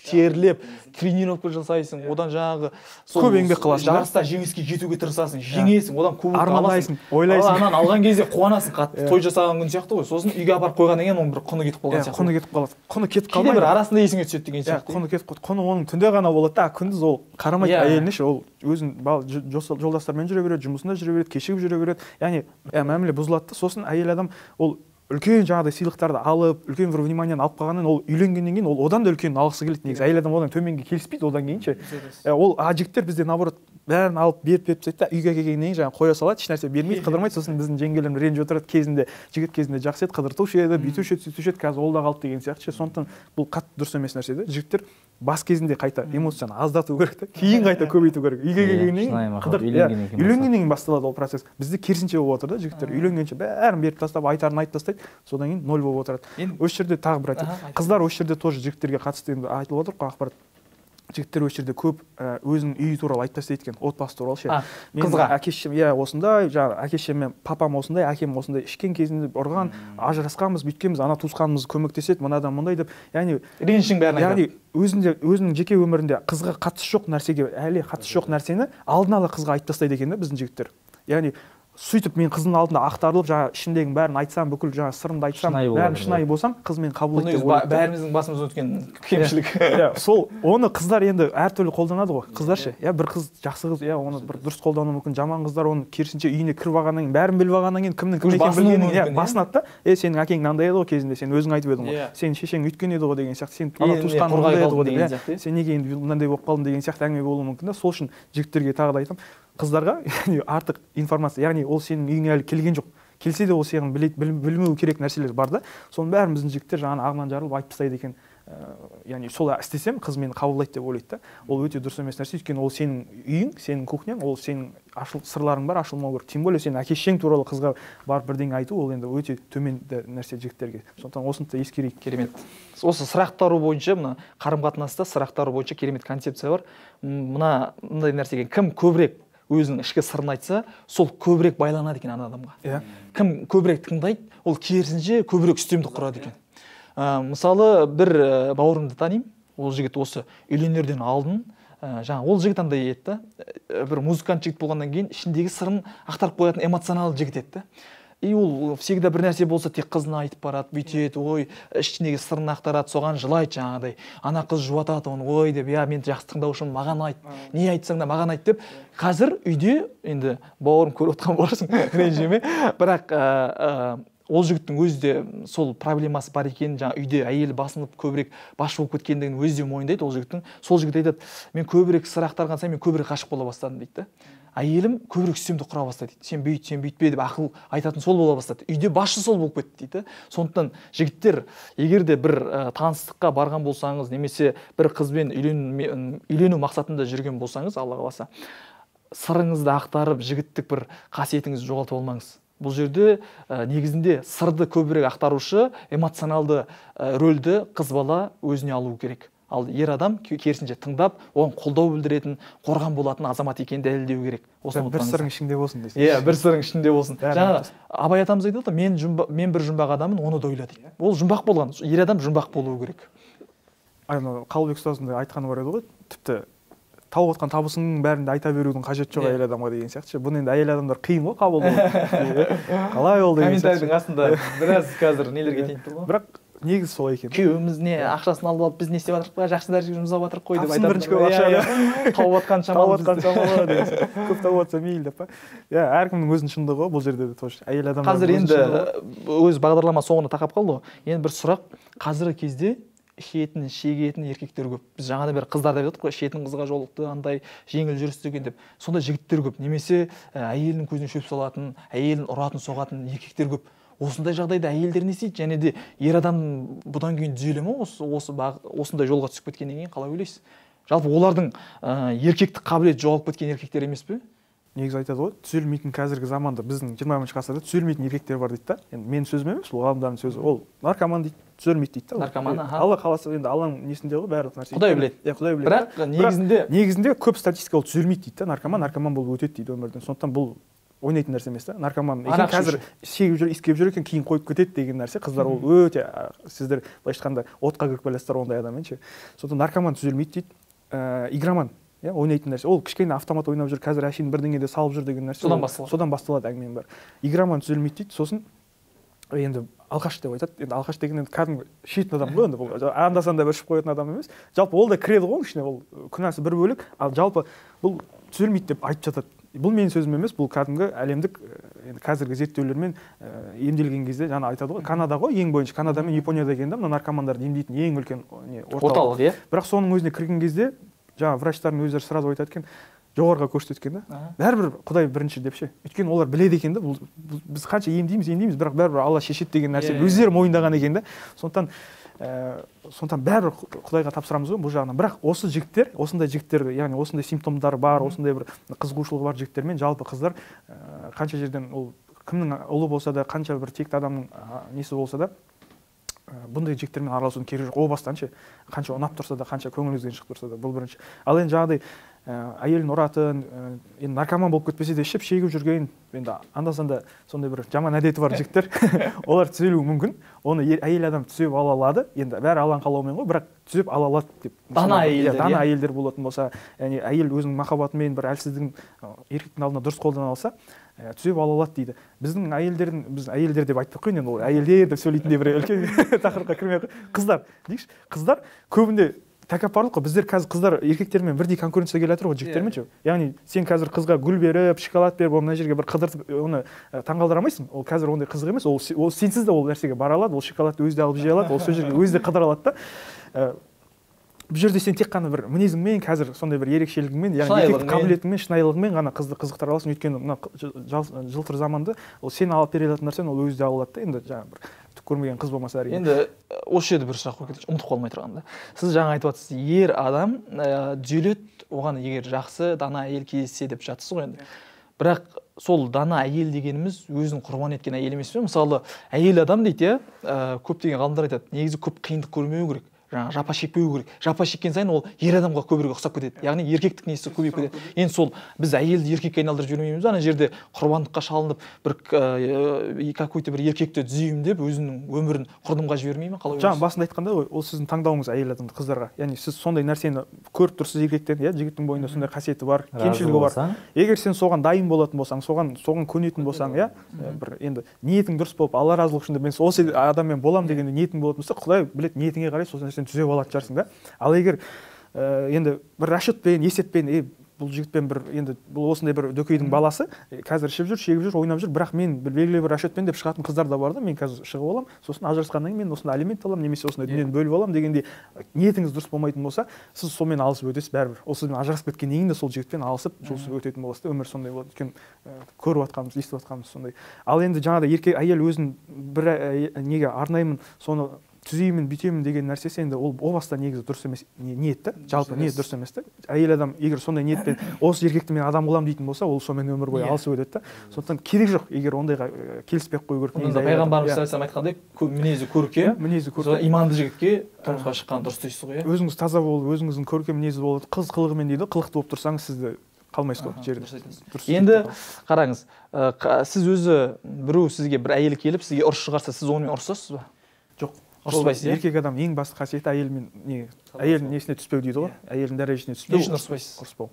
терлеп, тренировка жасайсың, одан жаңағы көп еңбек қыласың. Жарыста жеңіске жетуге тырысасың, жеңесің, одан кубокты армандайсың, ойлайсың. Анан алған кезде қуанасың қатты, той жасаған күн сияқты ғой. Сосын үйге апарып қойғаннан кейін оның бір құны кетіп қалған сияқты. Құны кетіп қалады. Құны кетіп қалмайды. Бір арасында есіңе түседі деген сияқты. Құны кетіп қалады. Құны оның түнде ғана болады да, күндіз ол қарамайды әйеліне ше, ол өзінің жолдастарымен жүре береді, жұмысында жүре береді, кешігіп жүре береді. Яғни мәміле бұзылады да, сосын әйел адам ол үлкен жаңағыдай сыйлықтарды алып, үлкен бір вниманиені алып қалғаннан ол үйленгеннен кейін ол одан да үлкенін алғысы келеді негізі. Әйел адам одан төменге келіспейді одан кейін ше. Ол жігіттер бізде наоборот бәрін алып беріп тастайды да, үйге келгеннен кейін жаңағы қоя салады, ешнәрсе бермейді, қыдырмайды. Сосын біздің жеңгелерім ренжіп отырады, кезінде жігіт кезінде жақсы еді, қыдыртушы еді, бүйтуші еді, сөйтуші еді, қазір ол да қалды деген сияқты ше. Сондықтан бұл қатты дұрыс емес нәрсе да. Жігіттер бас кезінде қайта эмоцияны аздату керек та, кейін қайта көбейту керек. Үйге келгеннен кейін үйленгеннен кейін басталады ол процесс. Бізде керісінше болып отыр да, жігіттер үйленгенше бәрін беріп тастап, айтарын айтып тастайды, содан кейін ноль болып отырады. Осы жерде тағы бір айтайын. Қыздар осы жерде тоже жігіттерге қатысты енді айтылып отыр ғой ақпарат. Жігіттер осы жерде көп өзінің үйі туралы айтып тастайды екен, отбасы туралы ше. Қызға әке-шешем осындай, жаңағы әке-шешем мен папам осындай, әкем осындай, ішкен кезінде ұрған, ажырасқанбыз, бүйткенбіз, ана туысқанымыз көмектеседі, мынадан мұндай деп, яғни ренішің бәрін айтады. Яғни өзінің жеке өмірінде қызға қатысы жоқ нәрсеге, әлі қатысы жоқ нәрсені алдын ала қызға айтып тастайды екен да біздің жігіттер. Яғни сөйтіп мен қыздың алдында ақтарылып, жаңағы ішімдегін бәрін айтсам, бүкіл жаңағы сырымды айтсам, бәрін шынайы болсам, қыз мені қабыл етеді деп ойлайды. Бәріміздің басымыздан өткен кемшілік. Сол оны қыздар енді әртүрлі қолданады ғой. Қыздар ше, бір қыз жақсы қыз, оны бір дұрыс қолдануы мүмкін. Жаман қыздар оны керісінше үйіне кіріп алғаннан кейін, бәрін біліп алғаннан кейін кімнің кім екенін білгеннен басынады да. Сенің әкең мынандай еді ғой кезінде, сен өзің айтып едің ғой. Сенің шешең өйткен еді ғой деген сияқты, сен ана туысқаның мынандай еді ғой деген сияқты. Сен неге енді мынандай болып қалдың деген сияқты әңгіме болуы мүмкін да. Сол үшін жігіттерге тағы да айтамын, қыздарға артық информация, яғни ол сенің үйіңе әлі келген жоқ. Келсе де ол сенің білмеу керек нәрселер бар да. Соның бәрін біздің жігіттер жаңағы ағынан жарылып айтып тастайды екен. Яғни сол істесем қыз мені қабылдайды деп ойлайды да. Ол өте дұрыс емес нәрсе, өйткені ол сенің үйің, сенің кухняң, ол сенің сырларың бар, ашылмау керек. Тем более сен әке-шешең туралы қызға барып бірдеңе айту, ол енді өте төмен нәрсе жігіттерге. Сондықтан осыны да ескерейік. Керемет. Осы сұрақтару бойынша, мына қарым-қатынаста сұрақтару бойынша керемет концепция бар. Мынандай нәрсеге кім көбірек өзінің ішкі сырын айтса, сол көбірек байланады екен ана адамға. Кім көбірек тыңдайды, ол керісінше көбірек үстемдік құрады екен. Мысалы, бір бауырымды танимын, ол жігіт осы үйленерден алдын, ол жігіт андай еді, бір музыкант жігіт болғаннан кейін ішіндегі сырын ақтарып қоятын эмоционалды жігіт еді. и ол всегда бір нәрсе болса тек қызына айтып барады, бүйтеді, ой, ішіндегі сырын ақтарады, соған жылайды жаңағыдай. Ана қыз жұбатады оны, ой деп, я мен жақсы тыңдаушым, маған айт, не айтсаң да маған айт деп. Қазір үйде енді бауырым көріп отқан боларсың, ренжіме, бірақ ол жігіттің өзі де сол проблемасы бар екенін, жаңа үйде әйелі басынып көбірек басшы болып кеткендігін өзі де мойындайды ол жігіттің. Сол жігіт айтады, мен көбірек сыр ақтарған сайын мен көбірек ғашық бола бастадым дейді. Әйелім көбірек үстемдік құра бастады дейді. Сен бүйт, сен бүйтпе деп ақыл айтатын сол бола бастады. Үйде басшы сол болып кетті дейді. Сондықтан жігіттер, егер де бір таныстыққа барған болсаңыз, немесе бір қызбен үйлену мақсатында жүрген болсаңыз, Алла қаласа, сырыңызды ақтарып, жігіттік бір қасиетіңізді жоғалтып алмаңыз. Бұл жерде негізінде сырды көбірек ақтарушы эмоционалды рөлді қыз бала өзіне алу керек. Ал ер адам керісінше тыңдап, оған қолдау білдіретін, қорған болатын азамат екенін дәлелдеу керек. Бір сырың ішінде болсын дейсіз. Иә, бір сырың ішінде болсын. Жаңа Абай атамыз айтады, мен бір жұмбақ адамын, оны да ойла дейді. Ол жұмбақ болған, ер адам жұмбақ болуы керек. Қалыбек ұстазында айтқаны бар еді ғой, тіпті тауып отқан табысының бәрінде айта берудің қажеті жоқ әйел адамға деген сияқты. Бұны енді әйел адамдар қиын ғой қабылдау. Қалай ол деген сияқты. Комментарийдің астында біраз қазір нелерге тиіп тұр ғой. Бірақ негізі солай екен. Күйеуіміз не ақшасын алып алып, біз не істеп жатырмық па, жақсы дәрежеге жұмсап жатырық қой деп айтады. Бірінші көп ақша тауып жатқан шамалы деген сияқты. Көп тауып жатса мейлі деп па. Иә, әркімнің өзінің шындығы ғой бұл жерде де тоже. Әйел адамдар қазір енді өз бағдарлама соңына тақап қалды ғой. Енді бір сұрақ, қазіргі кезде ішетін, шегетін еркектер көп. Біз жаңада бір қыздар деп жатырмық қой, ішетін қызға жолықты, андай жеңіл жүрісті екен деп. Сондай жігіттер көп. Немесе әйелінің көзіне шөп салатын, әйелін ұратын, соғатын еркектер көп. Осындай жағдайда әйелдер не істейді? Және де ер адам бұдан кейін түзеле ме осындай жолға түсіп кеткеннен кейін, қалай ойлайсыз? Жалпы олардың еркектік қабілеті жоғалып кеткен еркектер емес пе? Негізі айтады ғой, түзелмейтін қазіргі заманда біздің 20-ші ғасырда түзелмейтін еркектер бар дейді да. Енді менің сөзім емес, бұл ғалымдардың сөзі. Ол наркоман дейді, түзелмейді дейді да. Наркоман, Алла қаласа, енді Алланың несінде ғой барлық нәрсе. Құдай біледі. Иә, Құдай біледі. Бірақ негізінде көп статистика ол түзелмейді дейді да. Наркоман болып өтеді дейді өмірден. Сондықтан бұл ойнайтын нәрсе емес та. Наркоман екен қазір шегіп жүр, иіскеп жүр екен, кейін қойып кетеді деген нәрсе. Қыздар ол өте, сіздер былайша айтқанда отқа кіріп келесіздер ондай адаммен ше. Сондықтан наркоман түзелмейді дейді. Игроман, иә, ойнайтын нәрсе. Ол кішкене автомат ойнап жүр, қазір әшейін бірдеңеде салып жүр деген нәрсе. Содан басталады әңгіменің бәрі. Игроман түзелмейді дейді. Сосын енді алқаш деп айтады. Енді алқаш деген енді кәдімгі шетін адам ғой, енді бұл анда-санда бір ішіп қоятын адам емес. Жалпы ол да кіреді ғой ішіне, ол күнәсі бір бөлек, ал жалпы бұл түзелмейді деп айтып жатады. Бұл менің сөзім емес, бұл кәдімгі әлемдік енді қазіргі зерттеулермен емделген кезде жаңа айтады ғой, Канада ғой ең бойынша, Канада мен Японияда екен да, мына наркомандарды емдейтін ең үлкен орталық, иә. Бірақ соның өзіне кірген кезде жаңа врачтардың өздері сразу айтады екен, жоғарыға көрсеткен да. Бәрібір Құдай бірінші деп ше. Өйткені олар біледі екен да, біз қанша емдейміз, бірақ бәрібір Алла шешеді деген нәрсені өздері мойындаған екен да. Сондықтан бәрібір Құдайға тапсырамыз ғой бұл жағынан. Бірақ осы жігіттер, осындай жігіттер, яғни осындай симптомдары бар, осындай бір қызығушылығы бар жігіттермен жалпы қыздар қанша жерден ол кімнің ұлы болса да, қанша бір текті адамның несі болса да, бұндай жігіттермен араласудың керегі жоқ. О бастан ше, қанша ұнап тұрса да, қанша көңіліңізден шығып тұрса да, бұл бірінші. Ал енді жаңағыдай әйелін ұратын, енді наркоман болып кетпесе де ішіп шегіп жүрген, енді анда-санда сондай бір жаман әдеті бар жігіттер, олар түзелуі мүмкін. Оны әйел адам түзеп ала алады. Енді бәрі Алланың қалауымен ғой, бірақ түзеп ала алады деп. Дана әйелдер болатын болса, яғни әйел өзінің махаббатымен бір әлсіздің еркектің алдына дұрыс қолдана алса, түзеп ала алады дейді. біз әйелдер деп айттық қой, енді ол әйелдер деп сөйлейтіндей бір үлкен тақырыпқа кірмей қыздар дейікші. Қыздар көбінде тәкаппарлық қой. Біздер қазір қыздар еркектермен бірдей конкуренция келе жатыр ғой жігіттермен ше. Яғни сен қазір қызға гүл беріп, шоколад беріп, мына жерге бір қыдыртып, оны таңғалдыра алмайсың. Ол қазір ондай қызық емес. Ол сенсіз де ол нәрсеге бара алады, ол шоколадты өзі де алып жей алады, ол сол жерге өзі де қыдыра алады да. Бұл жерде сен тек қана бір мінезіңмен, қазір сондай бір ерекшелігіңмен, яғни еркектік қабілетіңмен, шынайылығыңмен ғана қызды қызықтыра аласың. Өйткені мына жылтыр заманда ол сен алып бере алатын нәрсені ол өзі де ала алады да. Енді жаңағы бір түк көрмеген қыз болмаса әрине. Енді осы жерде бір сұрақ қойып кетейінші, ұмытып қалмай тұрғанда. Сіз жаңа айтып жатсыз, ер адам түзеледі, оған егер жақсы дана әйел кездессе деп жатсыз ғой енді. Бірақ сол дана әйел дегеніміз өзін құрбан еткен әйел емес пе? Мысалы, әйел адам дейді, көптеген ғалымдар айтады, негізі көп қиындық көрмеу керек. жаңағы жапа шекпеу керек. Жапа шеккен сайын ол ер адамға көбірек ұқсап кетеді. Яғни еркектік несі көбейіп кетеді. Енді сол біз әйелді еркекке айналдырып жібермейміз. Ана жерде құрбандыққа шалынып бір какой-то бір еркекті түзеймін деп өзінің өмірін құрдымға жібермей ме? Қалай ойлайсыз? Жаңа басында айтқандай ғой, ол сіздің таңдауыңыз әйел адамды қыздарға. Яғни сіз сондай нәрсені көріп тұрсыз еркектен, иә, жігіттің бойында сондай қасиеті бар, кемшілігі бар. Егер сен соған дайын болатын болсаң, соған көнетін болсаң, иә, бір енді ниетің дұрыс болып, Алла разылығы үшін мен осы адаммен боламын деген ниетің болатын болса, Құдай біледі, ниетіңе қарай сол нәрсені түзеп алатын шығарсың да. Ал егер енді бір расчетпен, есеппен, бұл жігітпен бір енді бұл осындай бір дөкейдің баласы, қазір ішіп жүр, шегіп жүр, ойнап жүр, бірақ мен белгілі бір расчетпен деп шығатын қыздар да бар да, мен қазір шығып аламын, сосын ажырасқаннан кейін мен осындай алимент аламын, немесе осындай дүниені бөліп аламын дегенде ниетіңіз дұрыс болмайтын болса, сіз сонымен алысып өтесіз бәрібір. Ол сізбен ажырасып кеткеннен кейін де сол жігітпен алысып, жұлысып өтетін боласыз да, өмір сондай болады. Өйткені көріп жатқанымыз, естіп жатқанымыз сондай. Ал енді жаңағыдай еркек әйел өзін бір неге арнаймын, соны түзеймін, бүйтемін деген нәрсесі енді ол о баста негізі дұрыс емес ниет та, жалпы ниет дұрыс емес та. Әйел адам егер сондай ниетпен осы еркекті мен адам қыламын дейтін болса, ол сонымен өмір бойы алысып өтеді да. Сондықтан керек жоқ, егер ондайға келіспей ақ қою керек. Онда пайғамбарымыз айтқандай, мінезі көркем, иманды жігітке тұрмысқа шыққан дұрыс дейсіз ғой, иә? Өзіңіз таза болып, өзіңіздің көркем мінезі болып, қыз қылығымен дейді, қылықты болып тұрсаңыз, сізді қалмайсыз ғой жерде. Енді қараңыз, сіз өзі біреу сізге бір әйел келіп, сізге ұрыс шығарса, сіз онымен ұрысасыз ба? Жоқ. Ұрыспайсыз, иә? Еркек адам ең басты қасиеті әйелдің несіне түспеу дейді ғой. Әйелдің дәрежесіне түспеу. Не үшін ұрыспайсыз? Ұрыспау.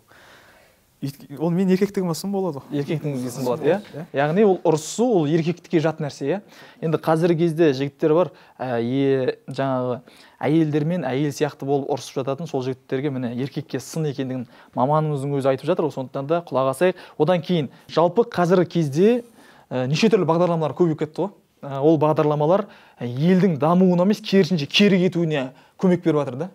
Ол мен еркектігіме сын болады ғой. Еркектігіңізге сын болады, иә? Яғни ол ұрысу, ол еркектікке жат нәрсе, иә? Енді қазіргі кезде жігіттер бар, жаңағы әйелдермен әйел сияқты болып ұрысып жататын сол жігіттерге міне еркекке сын екендігін маманымыздың өзі айтып жатыр ғой, сондықтан да құлақ асайық. Одан кейін жалпы қазіргі кезде неше түрлі бағдарламалар көбейіп кетті ғой. Ол бағдарламалар елдің дамуына емес, керісінше кері кетуіне көмек беріп жатыр да.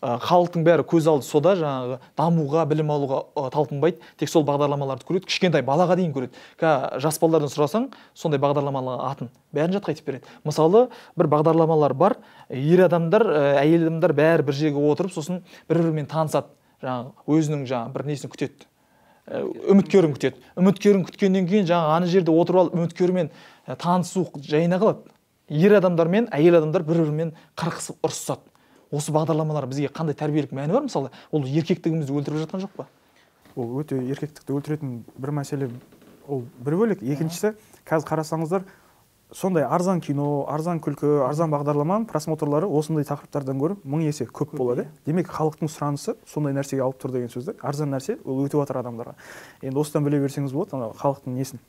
Халықтың бәрі көз алды сода, жаңағы дамуға, білім алуға талпынбайды, тек сол бағдарламаларды көреді, кішкентай балаға дейін көреді. Жас балалардан сұрасаң, сондай бағдарламаларға атын бәрін жатқа айтып береді. Мысалы, бір бағдарламалар бар, ер адамдар, әйел адамдар бәрі бір жерге отырып, сосын бір-бірімен танысады, жаңағы өзінің жаңағы бір несін күтеді. Үміткерін күтеді. Үміткерін күткеннен кейін жаңағы ана жерде отырып алып үміткермен танысу жайына қалады. Ер адамдар мен әйел адамдар бір-бірімен қырқысып ұрысады. Осы бағдарламалар бізге қандай тәрбиелік мәні бар мысалы? Ол еркектігімізді өлтіріп жатқан жоқ па? Ол өте еркектікті өлтіретін бір мәселе, ол бір бөлек. Екіншісі, қазір қарасаңыздар, сондай арзан кино, арзан күлкі, арзан бағдарламаның просмотрлары осындай тақырыптардан гөрі 1000 есе көп болады. Демек, халықтың сұранысы сондай нәрсеге алып тұр деген сөзді. Арзан нәрсе ол өтіп жатыр адамдарға. Енді осыдан біле берсеңіз болады, халықтың несін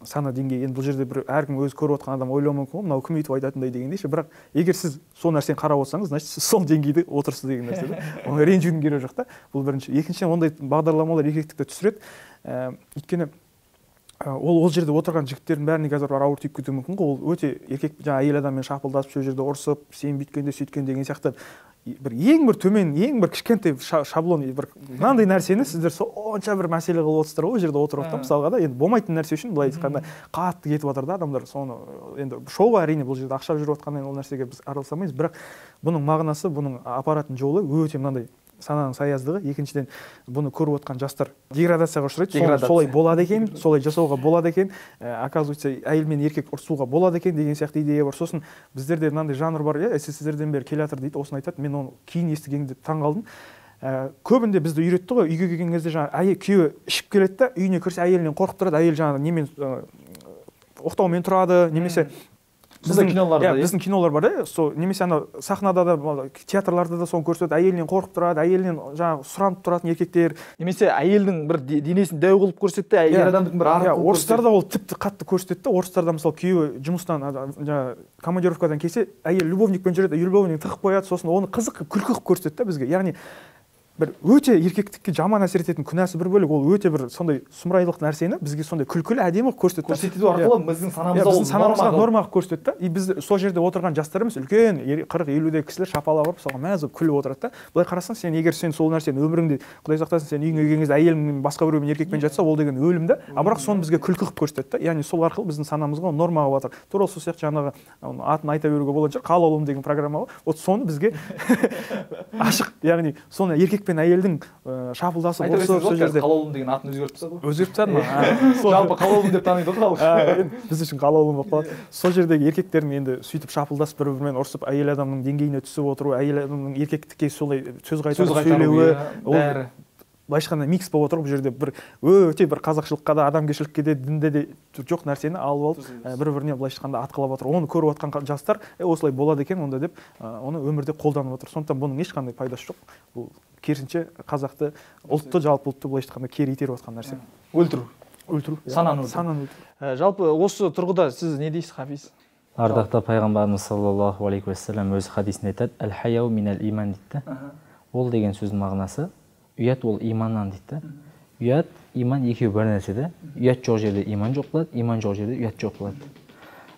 сана деңгейі. Енді бұл жерде бір әркім өзі көріп отқан адам ойлауы мүмкін ғой, мынау кім өйтіп айтатындай дегендей ше. Бірақ егер сіз сол нәрсені қарап отырсаңыз, значит сіз сол деңгейде отырсыз деген нәрсе да. Оған ренжудің керегі жоқ та. Бұл бірінші. Екіншіден, ондай бағдарламалар еркектікті түсіреді. Өйткені ол жерде отырған жігіттердің бәріне қазір ауыр тиіп кетуі мүмкін ғой. Ол өте еркек жаңа әйел адаммен шапылдасып, сол жерде ұрысып, сен бүйткенде сөйткен деген сияқты бір ең бір төмен, ең бір кішкентай шаблон, бір мынандай нәрсені сіздер сонша бір мәселе қылып отырсыздар ғой, жерде отырып та мысалға да, енді болмайтын нәрсе үшін былай айтқанда қатты кетіп жатыр да адамдар. Соны енді шоуға әрине бұл жерде ақша жүріп жатқаннан ол нәрсеге біз араласа алмаймыз, бірақ бұның мағынасы, бұның апаратын жолы өте мынандай сананың саяздығы. Екіншіден, бұны көріп отқан жастар деградацияға ұшырайды. Солай болады екен, солай жасауға болады екен, оказывается, әйел мен еркек ұрысуға болады екен деген сияқты идея бар. Сосын біздерде мынандай жанр бар, СССРден бері келе жатыр дейді, осыны айтады. Мен оны кейін естігенде таң қалдым. Көбінде бізді үйретті ғой, үйге келген кезде жаңағы күйеуі ішіп келеді да, үйіне кірсе әйелінен қорқып тұрады, әйел жаңағы немен оқтаумен тұрады, немесе біздің кинолар бар да, немесе ана сахнада да, театрларда да соны көрсетеді, әйелінен қорқып тұрады, әйелінен жаңағы сұранып тұратын еркектер. Немесе әйелдің бір денесін дәу қылып көрсетті, әйел адамдың бір арық қылып көрсетті. Орыстарда ол тіпті қатты көрсетеді да. Орыстарда мысалы күйеуі жұмыстан жаңағы командировкадан келсе, әйел любовникпен жүреді, любовник тығып қояды, сосын оны қызық күлкі қылып көрсетеді да бізге. Яғни бір өте еркектікке жаман әсер ететін күнәсі бір бөлек, ол өте бір сондай сұмырайлық нәрсені бізге сондай күлкілі әдемі көрсетеді. Көрсету арқылы біздің санамызға нормаға көрсетеді да. И біз сол жерде отырған жастарымыз үлкен 40-50-дегі кісілер шапалап ұрып соған мәз болып күліп отырады да. Былай қарасаң, сен егер сен сол нәрсені өміріңде, Құдай сақтасын, сен үйіңе келген кезде әйелің басқа біреумен еркекпен жатса, ол деген өлім да. А бірақ соны бізге күлкі қылып көрсетеді да. Яғни сол арқылы біздің санамызға нормаға батыр. Тура сол сияқты жаңағы атын айта беруге болатын шығар, Қалаулым деген программа бар. Вот соны бізге ашық, яғни соны еркекпен пен әйелдің шапылдасып ұрысып сол жерде қалаулым деген атын өзгертіп тастады ғой. өзгертіп тастады ма? Жалпы қалаулым деп таниды ғой халық. Біз үшін қалаулым болып қалады. Сол жердегі еркектердің енді сөйтіп шапылдасып бір-бірімен ұрысып, әйел адамның деңгейіне түсіп отыру, әйел адамның еркектікке солай сөз қайтарып сөйлеуі, бәрі былайша айтқанда микс болып отыр. Бұл жерде бір өте бір қазақшылыққа да, адамгершілікке де, дінде де жоқ нәрсені алып алып бір-біріне былайша айтқанда атқылап отыр. Оны көріп отқан жастар осылай болады екен онда деп оны өмірде қолданып отыр. Сондықтан бұның ешқандай пайдасы жоқ. Бұл керісінше қазақты, ұлтты, жалпы ұлтты былайша айтқанда кері итеріп отқан нәрсе. Өлтіру. Сананы өлтіру. Жалпы осы тұрғыда сіз не дейсіз, Хафиз? Ардақты пайғамбарымыз саллаллаху алейхи уассалам өз хадисінде айтады, әл-хаяу минал иман дейді. Ол деген сөздің мағынасы ұят ол иманнан дейді. Ұят, иман екеуі бір нәрсе де. Ұят жоқ жерде иман жоқ болады, иман жоқ жерде ұят жоқ болады.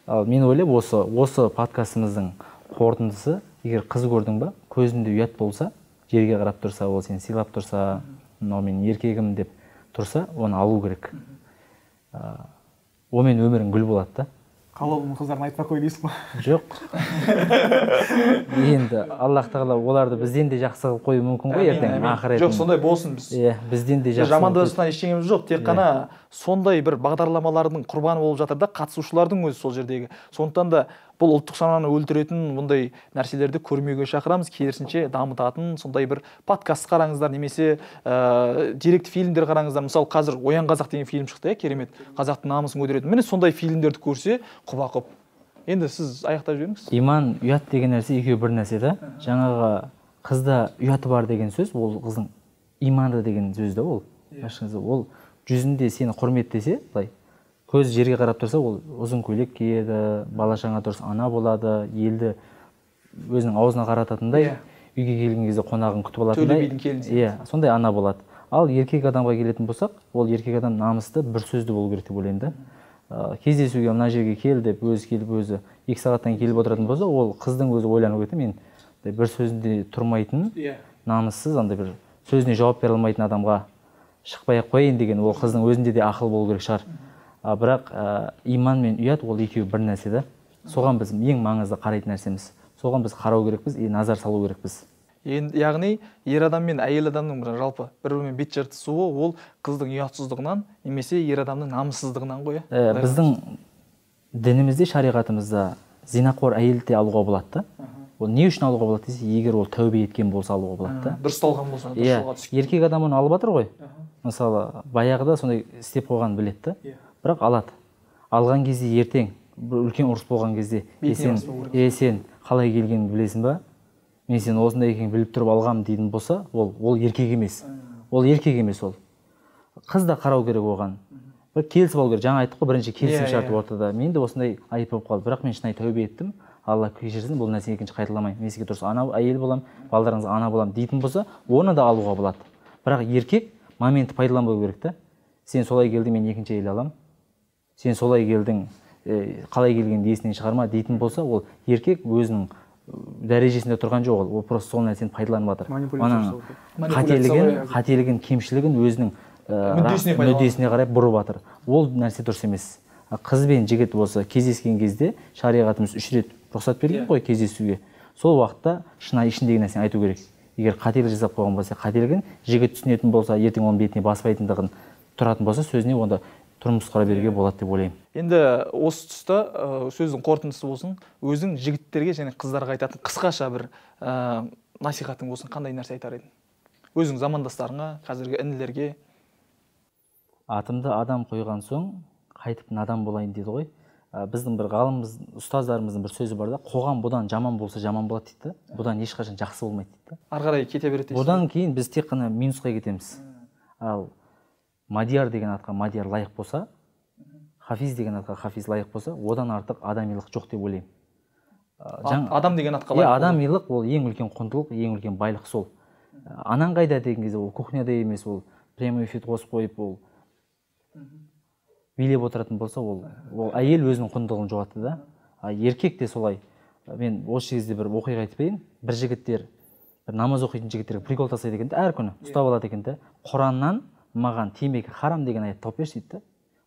Ал мен ойлаймын, осы подкастымыздың қорытындысы, егер қыз көрдің ба, көзінде ұят болса, жерге қарап тұрса, ол сені сыйлап тұрса, мынау менің еркегім деп тұрса, оны алу керек. Онымен өмірің гүл болады да. Қалаулым қыздарын айтпай қой дейсің ба? Жоқ. Енді Аллах тағала оларды бізден де жақсы қылып қою мүмкін ғой ертең ақырет. Жоқ, сондай болсын біз. Иә, бізден де жақсы. Жамандасқан ештеңеміз жоқ, тек қана сондай бір бағдарламалардың құрбаны болып жатыр да қатысушылардың өзі сол жердегі. Сондықтан да бұл ұлттық сананы өлтіретін бұндай нәрселерді көрмеуге шақырамыз, керісінше дамытатын сондай бір подкаст қараңыздар, немесе деректі фильмдер қараңыздар. Мысалы, қазір Оян қазақ деген фильм шықты, керемет. Қазақтың намысын көтеретін. Міне сондай фильмдерді көрсе, құба-құп. Енді сіз аяқтап жіберіңіз. Иман, ұят деген нәрсе екеуі бір нәрсе да. Жаңағы қызда ұяты бар деген сөз, ол қыздың иманы деген сөз да ол. Ол жүзінде сені құрметтесе, былай көз жерге қарап тұрса, ол ұзын көйлек киеді, бала шаға тұрса ана болады, елді өзінің аузына қарататындай, үйге келген кезде қонағын күтіп алатындай. Төле бидің келінсі. Иә, сондай ана болады. Ал еркек адамға келетін болсақ, ол еркек адам намысты, бір сөзді болу керек деп ойлаймын да. Кездесуге мына жерге кел деп өзі келіп өзі 2 сағаттан келіп отыратын болса, ол қыздың өзі ойланып кетті, мен бір сөзінде тұрмайтын, намыссыз, андай бір сөзіне жауап бере алмайтын адамға шықпай-ақ қояйын деген, ол қыздың өзінде де ақыл болу керек шығар. Бірақ иман мен ұят ол екеуі бір нәрсе да. Соған біз ең маңызды қарайтын нәрсеміз. Соған біз қарау керекпіз, назар салу керекпіз. Яғни ер адам мен әйел адамның жалпы бір-бірімен бет жыртысуы ол қыздың ұятсыздығынан немесе ер адамның намыссыздығынан ғой. Біздің дінімізде, шариғатымызда зинақор әйелді алуға болады да. Ол не үшін алуға болады десе, егер ол тәубе еткен болса алуға болады да. Дұрысталған болса, дұрысталға түскен. Еркек адам оны алып жатыр ғой. Мысалы, баяғыда сондай істеп қойған біледі да. Бірақ алады. Алған кезде ертең үлкен ұрыс болған кезде, сен қалай келгенін білесің ба? Мен сен осындай екенін біліп тұрып алғам дейтін болса, ол еркек емес. Ол еркек емес ол. Қыз да қарау керек оған. Бір келісіп алу керек. Жаңа айттық қой, бірінші келісім шарты ортада. Мен де осындай айып болып қалды. Бірақ мен шынайы тәубе еттім. Алла кешірсін, бұл нәрсені екінші қайталамаймын. Мен сізге дұрыс ана әйел боламын, балдарыңызға ана боламын дейтін болса, оны да алуға болады. Бірақ еркек моментті пайдаланбау керек та. Сен солай келдің, мен екінші әйел аламын. Сен солай келдің, қалай келгенді есінен шығарма дейтін болса, ол еркек өзінің дәрежесінде тұрған жоқ, ол просто сол нәрсені пайдаланып жатыр. Қателігін, кемшілігін өзінің мүддесіне қарай бұрып жатыр. Ол нәрсе дұрыс емес. Қыз бен жігіт болса кездескен кезде шариғатымыз 3 рет рұқсат берген ғой кездесуге. Сол уақытта шынайы ішіндегі нәрсені айту керек. Егер қателік жасап қойған болса, қателігін жігіт түсінетін болса, ертең оның бетіне баспайтындығын тұратын болса, сөзіне онда тұрмыс құра беруге болады деп ойлаймын. Енді осы тұста сөздің қорытындысы болсын, өзің жігіттерге және қыздарға айтатын қысқаша бір насихатың болсын, қандай нәрсе айтар едің? Өзің замандастарыңа, қазіргі інілерге. Атымды адам қойған соң, қайтып надан болайын дейді ғой. Біздің бір ғалымымыз, ұстаздарымыздың бір сөзі бар да, қоғам бұдан жаман болса жаман болады дейді. Бұдан ешқашан жақсы болмайды дейді. Ары қарай кете береді. Бұдан кейін біз тек қана минусқа кетеміз. Ал Мадияр деген атқа Мадияр лайық болса, Хафиз деген атқа Хафиз лайық болса, одан артық адамилық жоқ деп ойлаймын. Адам деген атқа лайық. Адамилық ол ең үлкен құндылық, ең үлкен байлық сол. Анаң қайда деген кезде ол кухняда емес, ол прямой эфир қосып қойып, ол билеп отыратын болса, ол әйел өзінің құндылығын жоғалтты да. Еркек те солай. Мен осы кезде бір оқиға айтып берейін. Бір жігіттер, бір намаз оқитын жігіттерге прикол тастайды екен, әр күні ұстап алады екен де. Құраннан маған темекі харам деген аят тауып берші дейді.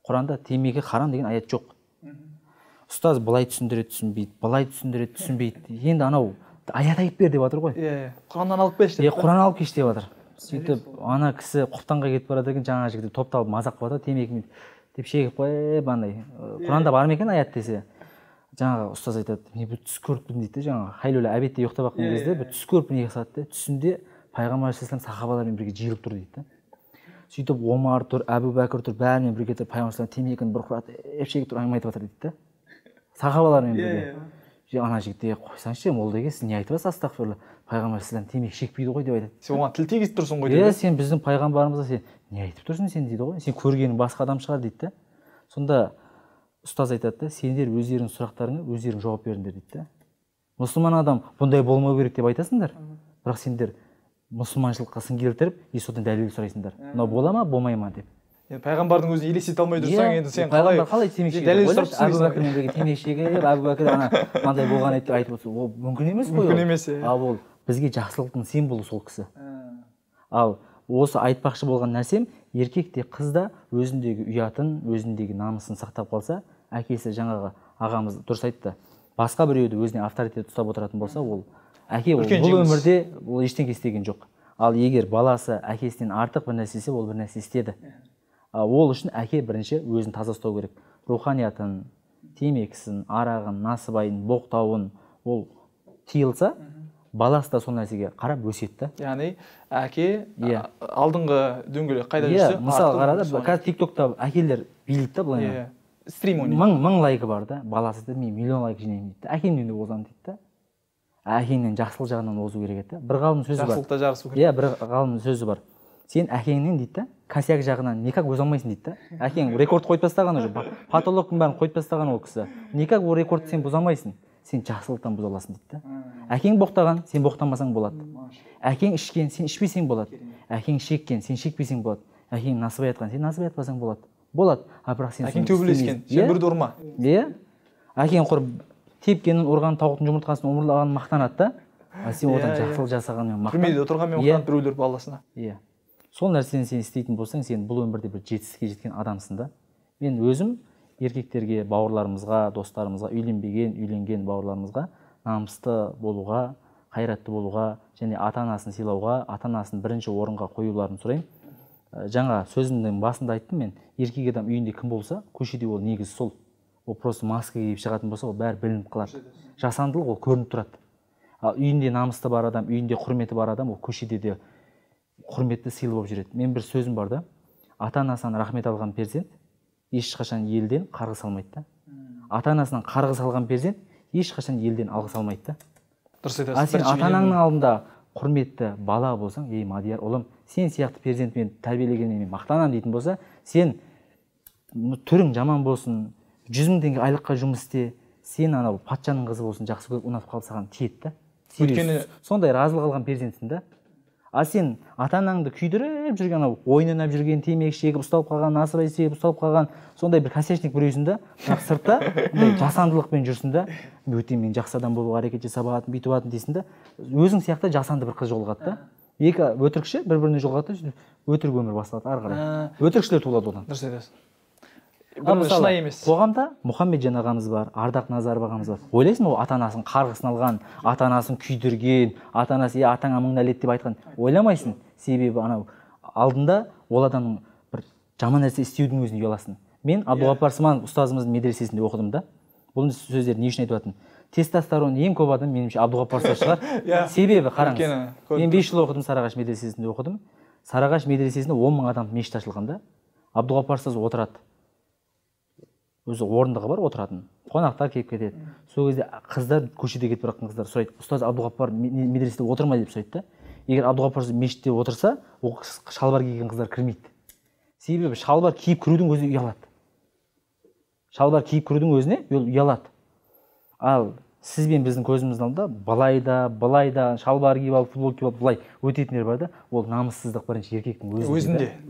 Құранда темекі харам деген аят жоқ. Ұстаз былай түсіндіреді, түсінбейді, былай түсіндіреді, түсінбейді. Енді анау аят айтып бер деп жатыр ғой. Құраннан алып берші. Құран алып кеш деп жатыр. сөйтіп ана кісі құптанға кетіп барады екен, жаңағы жігіт топталып мазақ қылып жатыр, темекі деп шегіп қойып андай құранда бар ма екен аят десе, жаңағы ұстаз айтады, мен бір түс көріппін дейді, жаңағы хайлөлі әбетте ұйықтап жатқан кезде бір түс көріппін екі салады, түсінде пайғамбар алейхиссалам сахабалармен бірге жиылып тұр дейді. Сөйтіп Омар тұр, Әбу Бәкір тұр, бәрімен бірге тұрып пайғамбар алейхиссалам темекіні бір құратып шегіп тұрып әңгіме айтып жатыр дейді. Сахабалармен бірге. Ана жігітте қойсаңшы, молдаға сіз не айтып жатсыз, астағфирулла, пайғамбар алейхиссалам темекі шекпейді ғой деп айтады. Сен оған тіл тигізіп тұрсың ғой дейді. Сен біздің пайғамбарымызға сен не айтып тұрсың сен дейді ғой. Сен көргенің басқа адам шығар дейді. Сонда ұстаз айтады да, сендер өздеріңнің сұрақтарыңа өздерің жауап беріңдер дейді. Мұсылман адам бұндай болмау керек деп айтасыңдар, бірақ сендер мұсылманшылыққа сын келтіріп, содан дәлел сұрайсыңдар. Мынау бола ма, болмай ма деп. Пайғамбардың өзін елестете алмай тұрсаң, енді сен қалай темекі дәлел сұрап тұрсың? Әбу Бәкірмен бірге темекі шегіп, Әбу Бәкір мынандай болған еді деп айтып отырсың. Ол мүмкін емес қой. Мүмкін емес. Ал ол бізге жақсылықтың символы сол кісі. Ал осы айтпақшы болған нәрсем, еркек те қыз да өзіндегі ұятын, өзіндегі намысын сақтап қалса, әкесі жаңағы ағамыз дұрыс айтты. Басқа біреуді өзіне авторитет ұстап отыратын болса, ол әке бұл өмірде ол ештеңе істеген жоқ. Ал егер баласы әкесінен артық бір нәрсе істесе, ол бір нәрсе істеді. Ол үшін әке бірінші өзін таза ұстау керек. Руханиятын, темекісін, арағын, насыбайын, боқтауын ол тиылса, баласы да сол нәрсеге қарап өсетті. Яғни әке алдыңғы дөңгелек қайда жүрсе, мысалы қарады, қазір TikTokта әкелер билейді да былай. Стрим ойнайды. Мың лайкі бар да, баласы да мен миллион лайк жинаймын дейді. Әкемнен де озамын дейді. Әкеңнен жақсылық жағынан озу керек еді. Бір ғалым сөзі бар. Жақсылықта жарысу керек. Бір ғалым сөзі бар. Сен әкеңнен дейді, косяк жағынан никак өз алмайсың дейді. Әкең рекорд қойып тастаған уже, патологтың бәрін қойып тастаған ол кісі. Никак ол рекордты сен бұза алмайсың. Сен жақсылықтан бұза аласың дейді. Әкең боқтаған, сен боқтамасаң болады. Әкең ішкен, сен ішпесең болады. Әкең шеккен, сен шекпесең болады. Әкең насыбай атқан, сен насыбай атпасаң болады. Болады. Бірақ сен әкең төбелескен, сен бірді ұрма. Әкең құрып тепкенін, ұрған тауықтың жұмыртқасын омырлағанын мақтанады да. Сен одан жақсылық жасағанмен мақтан. Түрмеде отырғанмен мақтанып біреулер баласына. Сол нәрсені сен істейтін болсаң, сен бұл өмірде бір жетістікке жеткен адамсың да. Мен өзім еркектерге, бауырларымызға, достарымызға, үйленген бауырларымызға намысты болуға, қайратты болуға және ата-анасын сыйлауға, ата-анасын бірінші орынға қоюларын сұраймын. Жаңа сөзімнің басында айттым мен, еркек адам үйінде кім болса, көшеде ол негізі сол. Ол просто маска киіп шығатын болса, ол бәрі білініп қалады. Жасандылық ол көрініп тұрады. Ал үйінде намысты бар адам, үйінде құрметі бар адам, ол көшеде де құрметті сыйлы болып жүреді. Мен бір сөзім бар да, ата-анасынан рахмет алған перзент ешқашан елден қарғыс алмайды да. Ата-анасынан қарғыс алған перзент ешқашан елден алғыс алмайды да. Дұрыс айтасың. Сен ата-анаңның алдында құрметті бала болсаң, Мадияр ұлым, сен сияқты перзентмен тәрбиелегеніне мен мақтанамын дейтін болса, сен түрің жаман болсын, 100 000 теңге айлыққа жұмыс істе, сен анау патшаның қызы болсын, жақсы көріп ұнатып қалып саған тиеді да. Сондай разылық алған перзентсің да. А сен ата-анаңды күйдіріп жүрген, ойын ойнап жүрген, темекі шегіп ұсталып қалған, насыбай себіп ұсталып қалған, сондай бір косячник біреусің да, сыртта жасандылықпен жүрсің да, мен жақсы адам болуға әрекет жасап жатырмын, бүйтіп жатырмын дейсің да, өзің сияқты жасанды бір қыз жолығады да. Екі өтірікші бір-біріне жолығады да, өтірік өмір басталады ары қарай. Өтірікшілер туылады одан. Дұрыс айтасың. Шынайы емес. Қоғамда Мұхаммеджан ағамыз бар, Ардақ Назаров ағамыз бар. Ойлайсың ол ата-анасын қарғысын алған, ата-анасын күйдірген, ата-анасы атаңа мың нәлет деп айтқан. Ойламайсың. Себебі анау алдында ол адамның бір жаман нәрсе істеудің өзін ұяласың. Мен Абдуғаппар Сманов ұстазымыздың медресесінде оқыдым да. Бұл сөздерді не үшін айтып жатырмын? Тестостерон ең көп адам меніңше Абдуғаппар ұстаз шығар. Себебі қараңыз. Мен 5 жыл оқыдым, Сарыағаш медресесінде оқыдым. Сарыағаш медресесінде 10 000 адам мешіт ашылған да. Абдуғаппар ұстаз отырады. Өзі орындығы бар, отыратын. Қонақтар келіп кетеді. Сол кезде қыздар көшеде кетіп бара жатқан қыздар сұрайды, ұстаз Абдуғаппар медреседе отырмай деп сұрайды да. Егер Абдуғаппар мешітте отырса, ол шалбар киген қыздар кірмейді. Себебі шалбар киіп кірудің өзі ұялады. Шалбар киіп кірудің өзіне ұялады. Ал сіз бен біздің көзіміздің алдында былай да шалбар киіп алып, футбол киіп алып былай өтетіндер бар да, ол намыссыздық бірінші еркектің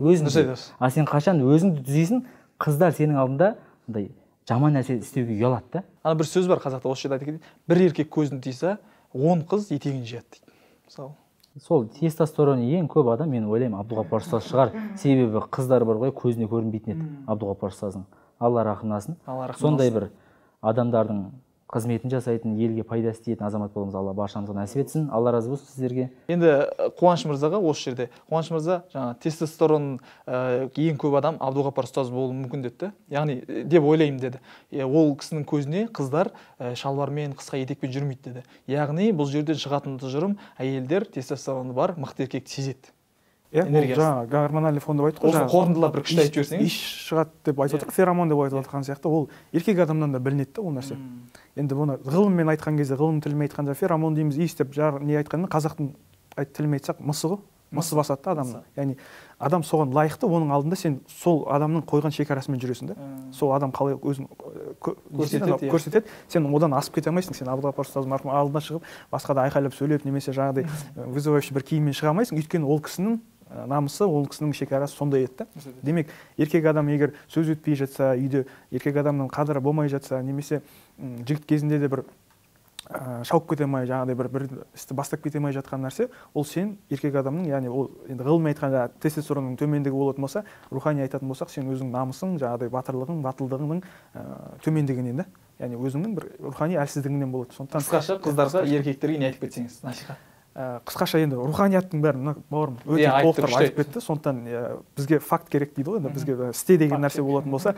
өзінде. А сен қашан өзіңді түзейсің, қыздар сенің алдында жаман нәрсе істеуге ұялады да. Ана бір сөз бар қазақта, осы жерде айта кетейін. Бір еркек көзін тиса, 10 қыз етегін жияды дейді. Мысалы. Сол тестостерон ең көп адам, мен ойлаймын, Абдуғаппар ұстаз шығар. Себебі қыздар бар ғой, көзіне көрінбейтін еді Абдуғаппар ұстаздың. Алла рахым етсін. Сондай бір адамдардың қызметін жасайтын, елге пайда істейтін азамат болуымыз Алла баршамызға нәсіп етсін. Алла разы болсын сіздерге. Енді Қуаныш мырзаға осы жерде, Қуаныш мырза жаңа тестостерон ең көп адам Абдуғапар ұстаз болуы мүмкін деді. Яғни деп ойлаймын деді. Ол кісінің көзіне қыздар шалбармен, қысқа етекпен жүрмейді деді. Яғни бұл жерден шығатын тұжырым әйелдер тестостероны бар мықты еркекті сезеді. Жаңа гормональный фон деп айттық қой. Осы қорытындылап бір күшті айтып жіберсеңіз. Иш шығады деп айтып отырық, феромон деп айтып отырған сияқты, ол еркек адамнан да білінеді ол нәрсе. Енді бұны ғылыммен айтқан кезде, ғылым тілімен айтқанда феромон дейміз, иіс деп не айтқанмен қазақтың тілімен айтсақ мысы ғой. Мысы басады да адамның. Яғни адам соған лайықты, оның алдында сен сол адамның қойған шекарасымен жүресің да. Сол адам қалай өзін көрсетеді, сен одан асып кете алмайсың. Сен Абдуғапар ұстаз марқұм алдына шығып, басқа да айқайлап сөйлеп, немесе жаңағыдай вызывающий бір киіммен шыға алмайсың. Өйткені ол кісінің намысы, ол кісінің шекарасы сондай еді. Демек, еркек адам егер сөз өтпей жатса, үйде еркек адамның қадірі болмай жатса, немесе жігіт кезінде де бір шауып кете алмай, жаңағыдай бір істі бастап кете алмай жатқан нәрсе, ол сен еркек адамның, яғни ол енді ғылыми айтқанда тестостеронның төмендігі болатын болса, рухани айтатын болсақ, сен өзің намысың, жаңағыдай батырлығың, батылдығының төмендігінен да, яғни өзіңнің бір рухани әлсіздігінен болады. Сондықтан қысқаша қыздарға, еркектерге не айтып кетсеңіз, насихат. Қысқаша енді руханияттың бәрін бауырым өте толықтырып айтып кетті. Сондықтан бізге факт керек дейді ғой, бізге істе деген нәрсе болатын болса,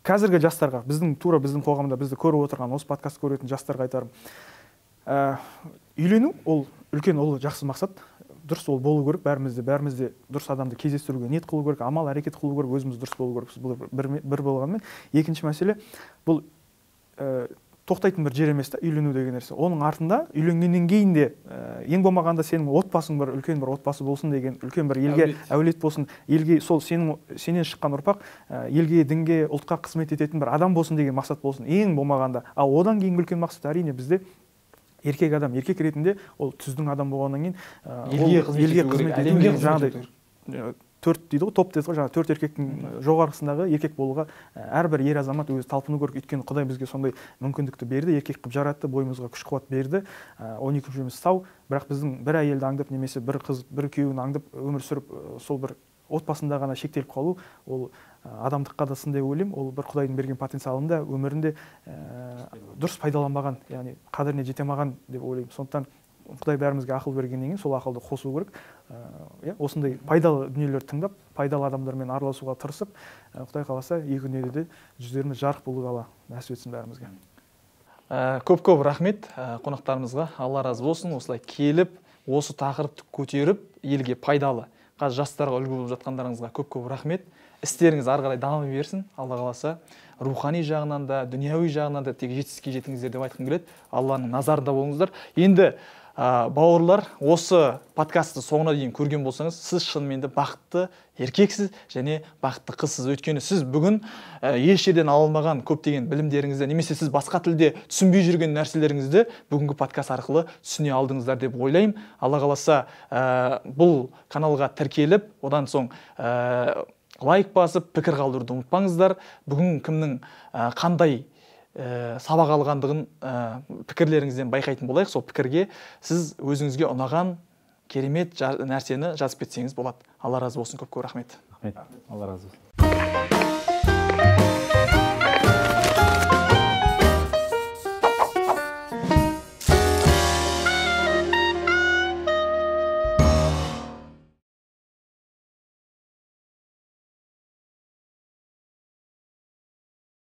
қазіргі жастарға, біздің қоғамда бізді көріп отырған, осы подкаст көретін жастарға айтарым. Үйлену ол үлкен, ол жақсы мақсат. Дұрыс ол болу керек, бәрімізде дұрыс адамды кездестіруге ниет қылу керек, амал әрекет қылу керек, өзіміз дұрыс болу керекпіз. Бұл бір болғанмен, екінші мәселе бұл тоқтайтын бір жер емес та, үйлену деген нәрсе. Оның артында үйленгеннен кейін де ең болмағанда сенің отбасың бір үлкен бір отбасы болсын деген, үлкен бір елге әулет болсын, елге сол сенен шыққан ұрпақ елге, дінге, ұлтқа қызмет ететін бір адам болсын деген мақсат болсын. Ең болмағанда. Ал одан кейін үлкен мақсат әрине бізде еркек адам, еркек ретінде ол түздің адам болғаннан кейін елге қызмет ету, жаңағыдай 4 дейді ғой, топ дейді ғой, жаңа 4 еркектің жоғарғысындағы еркек болуға әрбір ер азамат өзі талпыну керек. Өйткені Құдай бізге сондай мүмкіндікті берді, еркек қылып жаратты, бойымызға күш қуат берді. 12 мүшеміз сау, бірақ біздің бір әйелді аңдып, немесе бір қыз, бір күйеуін аңдып өмір сүріп, сол бір отбасында ғана шектеліп қалу, ол адамдыққа да сын деп ойлаймын. Ол бір Құдайдың берген потенциалында, өмірінде дұрыс пайдаланбаған, яғни қадіріне жете алмаған деп ойлаймын. Сондықтан Құдай бәрімізге ақыл бергеннен кейін сол ақылды қосу керек. Осындай пайдалы дүниелерді тыңдап, пайдалы адамдармен араласуға тырысып, Құдай қаласа екі дүниеде де жүздеріміз жарық болуға нәсіп етсін бәрімізге. Көп рахмет қонақтарымызға. Алла разы болсын. Осылай келіп, осы тақырыпты көтеріп, елге пайдалы, қазір жастарға үлгі болып жатқандарыңызға көп рахмет. Істеріңіз ары қарай дамы берсін. Алла қаласа, рухани жағынан да, дүнияуи жағынан да тек жетістікке жетіңіздер деп айтқым келеді. Алланың назарында болыңыздар. Енді бауырлар, осы подкастты соңына дейін көрген болсаңыз, сіз шынымен де бақытты еркексіз және бақытты қызсыз. Өйткені сіз бүгін еш жерден ала алмаған көптеген білімдеріңізді, немесе сіз басқа тілде түсінбей жүрген нәрселеріңізді бүгінгі подкаст арқылы түсіне алдыңыздар деп ойлаймын. Алла қаласа, бұл каналға тіркеліп, одан соң лайк басып, пікір қалдыруды ұмытпаңыздар. Бүгін кімнің қандай сабақ алғандығын пікірлеріңізден байқайтын болайық. Сол пікірге сіз өзіңізге ұнаған керемет нәрсені жазып кетсеңіз болады. Алла разы болсын. Көп рахмет. Алла разы болсын.